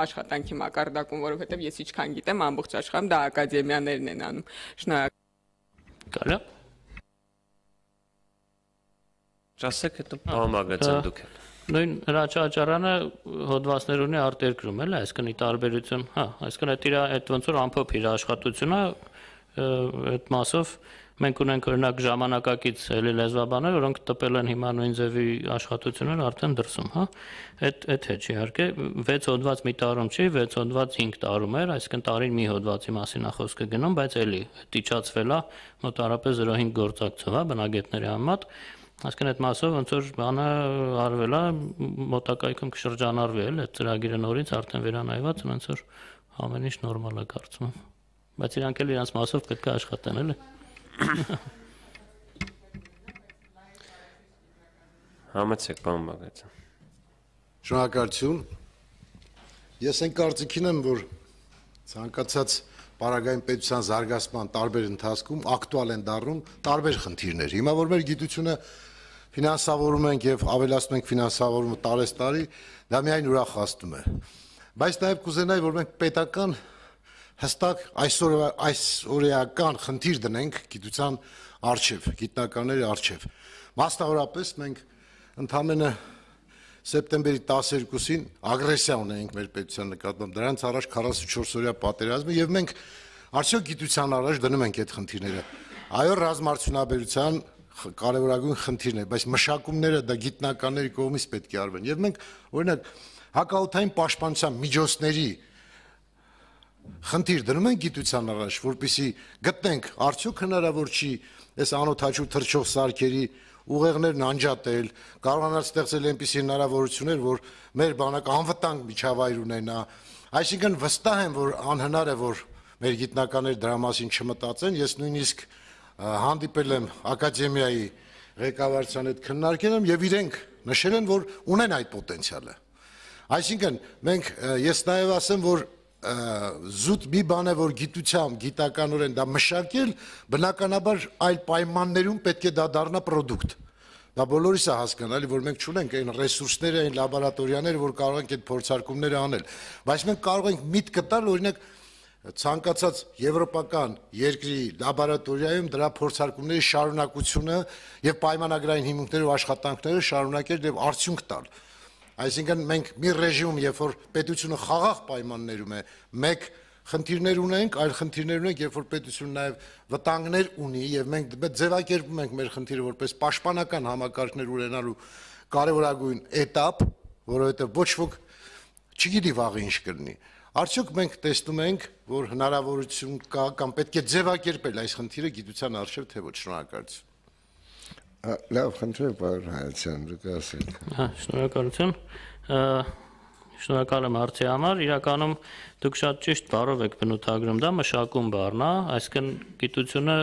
աշխատանքի մակարդակում, որովհետև ես ինչքան գիտեմ, ամբողջ աշխարհում դա ակադեմիաներն են անում։ Շնորհակալ։ Կարա։ Ճասեք հետո բամագացան դուք։ Նույն Հրաչյա Աջարյանը հոդվածներ ունի արտերկրում էլ, այսինքն ի տարբերություն, հա, այսինքն այդ իր այդ ոնց որ ամփոփ իր աշխատությունը այդ մասով մենք ունենք օրինակ ժամանակակից էլի լեզվաբաններ, որոնք տպել են հիմա նույն ձևի աշխատություններ արդեն դրսում, հա։ Այդ այդ հետ իհարկե վեց հոդված մի տարում չի, վեց հոդված հինգ տարում էր, այսինքն տարին մի հոդվածի մասին է խոսքը գնում, բայց էլի դիճացվել է մոտարապես զրո հինգ գործակցով, հա, բնագետների համեմատ։ Այսինքն այդ մասով ոնց որ բանը արվել է, մոտակայքում կշրջանառվի էլ այդ ծրագիրը նորից արդեն վերանայված, ոնց որ ամեն ինչ նորմալ է կարծում եմ։ Բայց իրանք էլ իրանց մասով պետք է աշխատեն, էլի։ Համեցեք, պարոն Բաղդասարյան։ Շնորհակալություն։ Ես այն կարծիքին եմ, որ ցանկացած Պարագային պետության զարգացման տարբեր ընթացքում ակտուալ են դառնում տարբեր խնդիրներ։ Հիմա որ մեր գիտությունը ֆինանսավորում ենք եւ ավելացնում ենք ֆինանսավորումը տարեստարի, դա միայն ուրախացնում է։ Բայց նաեւ կուզենայի, որ մենք պետական հստակ այսօր այսօրեական խնդիր դնենք գիտության արչեւ, գիտնականների արչեւ։ Մասնավորապես մենք ընդամենը սեպտեմբերի տասներկուսին ագրեսիա ունենք մեր պետության նկատմամբ, դրանց առաջ քառասունչորս օրյա պատերազմը եւ մենք արդյոք գիտության առաջ դնում ենք այդ խնդիրները։ Այո, ռազմարդյունաբերության կարևորագույն խնդիրն է, բայց մշակումները դա գիտնականների կողմից պետք է արվեն։ Եվ մենք օրինակ հակաօդային պաշտպանության միջոցների խնդիր դնում ենք գիտության առաջ, որպեսզի գտնենք արդյոք հնարավոր չի այս անօթաչու թռչող սարքերի ուղեղներն անջատել, կարողանալ ստեղծել այնպիսի հնարավորություններ, որ մեր բանակը անվտանգ միջավայր ունենա։ Այսինքն վստահ եմ, որ անհնար է, որ մեր գիտնականները դրա մասին չմտածեն։ Ես նույնիսկ հանդիպել եմ ակադեմիայի ղեկավարության հետ քննարկել եմ եւ իրենք նշել են, որ ունեն այդ պոտենցիալը։ Այսինքն մենք ես նաեւ ասեմ, որ զուտ մի բան է, որ գիտությամբ, գիտականորեն դա մշակել, բնականաբար այլ պայմաններում պետք է դա դառնա պրոդուկտ։ Դա բոլորիս է հասկանալի, որ մենք չունենք այն ռեսուրսները, այն լաբորատորիաները, որ կարող ենք այդ փորձարկումները անել։ Բայց մենք կարող ենք միտք տալ, օրինակ, ցանկացած եվրոպական երկրի լաբորատորիայում դրա փորձարկումների շարունակությունը եւ պայմանագրային հիմունքներով աշխատանքները շարունակել եւ արդյունք տալ։ Այսինքն մենք մի ռեժիմում, երբ որ պետությունը խաղաղ պայմաններում է, մեկ խնդիրներ ունենք, այլ խնդիրներ ունենք, երբ որ պետությունը նաև վտանգներ ունի եւ մենք ձևակերպում ենք մեր խնդիրը որպես պաշտպանական համակարգներ ունենալու կարևորագույն этап, որովհետեւ ոչ ոք չգիտի վաղը ինչ կլինի։ Արդյոք մենք տեսնում ենք, որ հնարավորություն կա կամ պետք է ձևակերպել այս խնդիրը գիտության արժեվ թե ոչ։ Շնորհակալություն։ Լավ, խնդրեմ, պարոն Հայացյան, դուք ասեք։ Հա, շնորհակալություն։ Շնորհակալ եմ հարցի համար։ Իրականում դուք շատ ճիշտ բառով եք բնութագրում դա, մշակում բառն է, այսինքն գիտությունը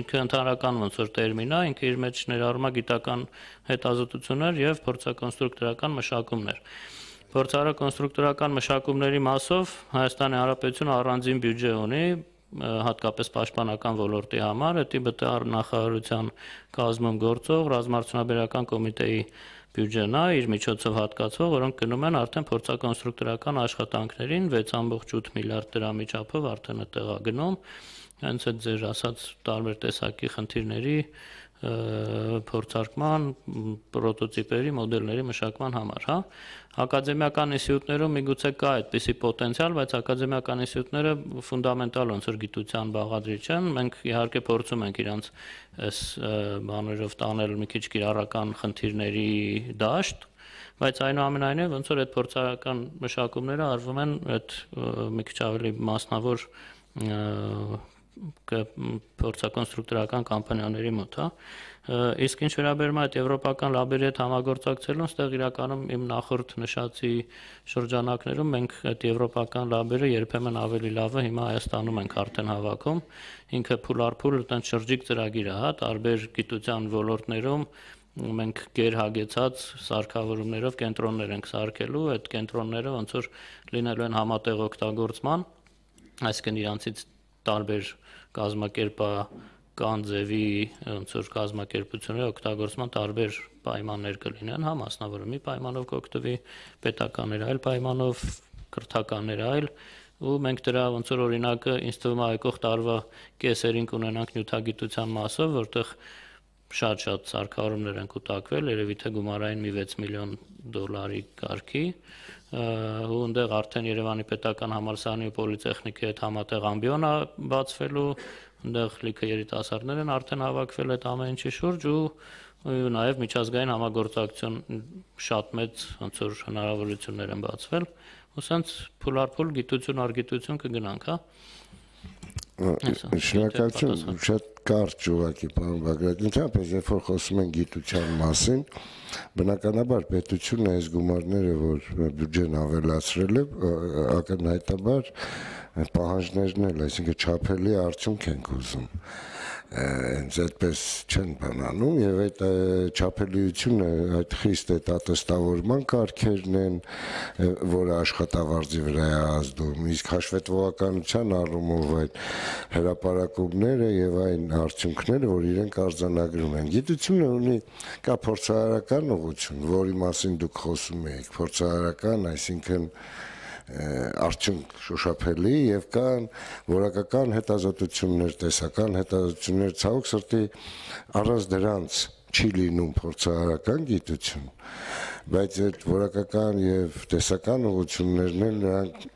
ինքը ընդհանրական ոնց որ տերմին է, ինքը իր մեջ ներառում է գիտական հետազոտություններ եւ փորձակոնստրուկտորական մշակումներ։ Փորձարարական մշակումների մասով Հայաստանի Հանրապետությունը առանձին բյուջե ունի, հատկապես պաշտպանական ոլորտի համար, դա ԲՏԱ նախարարության կազմում գործող ռազմաարդյունաբերական կոմիտեի բյուջեն է իր միջոցով հատկացվող, որոնք գնում են արդեն փորձակոնստրուկտորական աշխատանքներին վեց կόμma ութ միլիարդ դրամի չափով արդեն այդտեղ է գնում, հենց այդ ձեր ասած տարբեր տեսակի խնդիրների փորձարկման, պրոտոտիպերի, մոդելների մշակման համար, հա։ Ակադեմիական ինստիտուտներում միգուցե կա այդպիսի պոտենցիալ, բայց ակադեմիական ինստիտուտները ֆունդամենտալ ոնց որ գիտության բաղադրիչ են, մենք իհարկե փորձում ենք իրանց այս բաներով տանել մի քիչ կիրառական խնդիրների դաշտ, բայց այնուամենայնիվ ոնց որ այդ փորձարարական մշակումները արվում են այդ մի քիչ ավելի մասնավոր փորձակոնստրուկտորական կամպանիաների մոտ, հա։ Իսկ ինչ վերաբերում է այդ եվրոպական լաբերի հետ համագործակցելուն, ստեղ իրականում իմ նախորդ նշածի շրջանակներում մենք այդ եվրոպական լաբերը երբեմն ավելի լավը հիմա Հայաստանում ենք արդեն հավաքում, ինքը փուլարփուլ այդպես շրջիկ ծրագիր է, հա, տարբեր գիտության ոլորտներում մենք գերհագեցած սարքավորումներով կենտրոններ ենք սարքելու, այդ կենտրոնները ոնց որ լինելու են համատեղ օգտագործման, այսինքն իրանցից տարբեր կազմակերպական ձևի ոնց որ կազմակերպությունների օգտագործման տարբեր պայմաններ կլինեն, հա, մասնավորումի պայմանով կօգտվի, պետականներ այլ պայմանով, կրթականներ այլ, ու մենք դրա ոնց որ օրինակը ինձ թվում է եկող տարվա կեսերին կունենանք նյութագիտության մասով, որտեղ շատ-շատ սարքավորումներ են կուտակվել, երևի թե գումարային մի վեց միլիոն դոլարի կարգի, ու այնտեղ արդեն Երևանի պետական համալսարանի ու պոլիտեխնիկի հետ համատեղ ամբիոն է բացվելու, այնտեղ լիքը երիտասարդներ են արդեն հավաքվել այդ ամեն ինչի շուրջ ու նաև միջազգային համագործակցություն շատ մեծ ոնց որ հնարավորություններ են բացվել, ու սենց փուլարփուլ գիտություն առ գիտություն կգնանք, հա։ Շնորհակալություն, շատ կարճ ուղղակի պարոն Բագրատյան, ընդհանրապես երբ որ խոսում են գիտության մասին, բնականաբար պետությունը այս գումարները, որ բյուջեն ավելացրել է, ակնհայտաբար պահանջներն էլ, այսինքն չափելի արդյունք ենք ուզում, հենց այդպես չեն բանանում եւ այդ չափելիությունը այդ խիստ այդ ատեստավորման կարգերն են, որը աշխատավարձի վրա է ազդում, իսկ հաշվետվողականության առումով այդ հրապարակումները եւ այն արդյունքները, որ իրենք արձանագրում են։ Գիտությունը ունի կա փորձարարական ուղղություն, որի մասին դուք խոսում եք, փորձարարական, այսինքն արդյունք շոշափելի եւ կան որակական հետազոտություններ, տեսական հետազոտություններ, ցավոք սրտի առանց դրանց չի լինում փորձարարական գիտություն, բայց այդ որակական եւ տեսական ուղղություններն են նրանք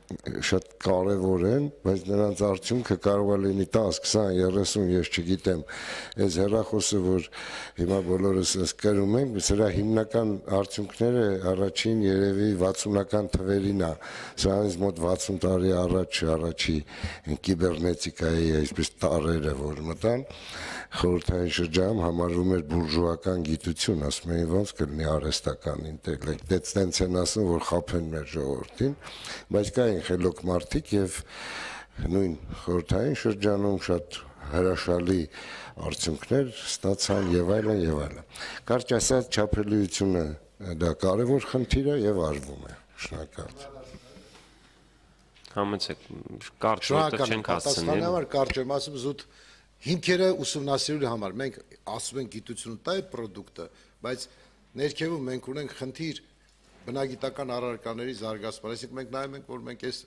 շատ կարեւոր են, բայց նրանց արդյունքը կարող է լինի դես, քսան, երեսուն, ես չգիտեմ, այս հեռախոսը, որ հիմա բոլորս ես կրում ենք, սրա հիմնական արդյունքները առաջին երևի վաթսունական թվերին է, սա ինձ մոտ վաթսուն տարի առաջ առաջի կիբեռնետիկայի այսպես տարերը, որ մտան, խորհրդային շրջանում համարվում էր բուրժուական գիտություն, ասում էին ոնց կլինի արհեստական ինտելեկտ, դե տենց են ասում, որ խաբեն մեր ժողովրդին, բայց կային խելոք մարդիկ եւ նույն խորհրդային շրջանում շատ հրաշալի արդյունքներ ստացան եւ այլն եւ այլն։ Կարճ ասած չափելիությունը դա կարևոր խնդիր է եւ արվում է։ Շնորհակալություն։ Համեցեք, կարճ որտեղ չենք հասցնել։ Պատասխանաբար կարճ եմ ասում զուտ հիմքերը ուսումնասիրելու համար մենք ասում ենք գիտությունը տա է պրոդուկտը, բայց ներքևում մենք ունենք խնդիր բնագիտական առարկաների զարգացման, այսինքն մենք նայում ենք, որ մենք այս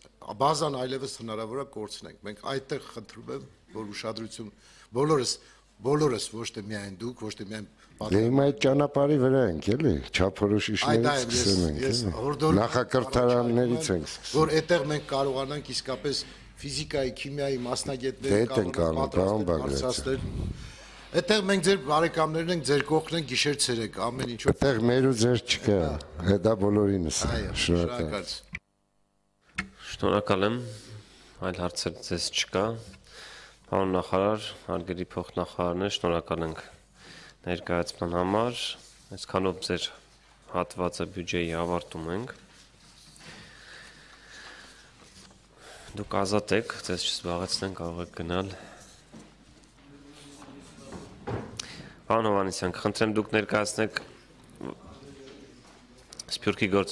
բազան այլևս հնարավոր է կորցնենք։ Մենք այդտեղ խնդրում եմ, որ ուշադրություն բոլորս բոլորս ոչ թե միայն դուք, ոչ թե միայն Դե հիմա այդ ճանապարհի վրա ենք, էլի, չափորոշիչներից սկսում ենք, էլի։ Նախակրթարաններից ենք սկսում։ Որ այդտեղ մենք կարողանանք իսկապես ֆիզիկայի, քիմիայի մասնագետները կարողանան պատրաստել։ Այդտեղ մենք ձեր բարեկամներն ենք, ձեր կողքն ենք գիշեր ցերեկ, ամեն ինչ։ Այդտեղ մեր ու ձեր չկա, դա բոլորինս է։ Շնորհակալ։ Շնորհակալ եմ, այլ հարցեր ձեզ չկա։ Պարոն նախարար, հարգելի փոխնախարարներ, շնորհակալ ենք ներկայացման համար, այսքանով ձեր հատվածը բյուջեի ավարտում ենք։ Դուք ազատ եք, ձեզ չզբաղեցնեն, կարող եք գնալ։ Պարոն Հովհաննիսյան, խնդրեմ դուք ներկայացնեք Սփյուռքի գործ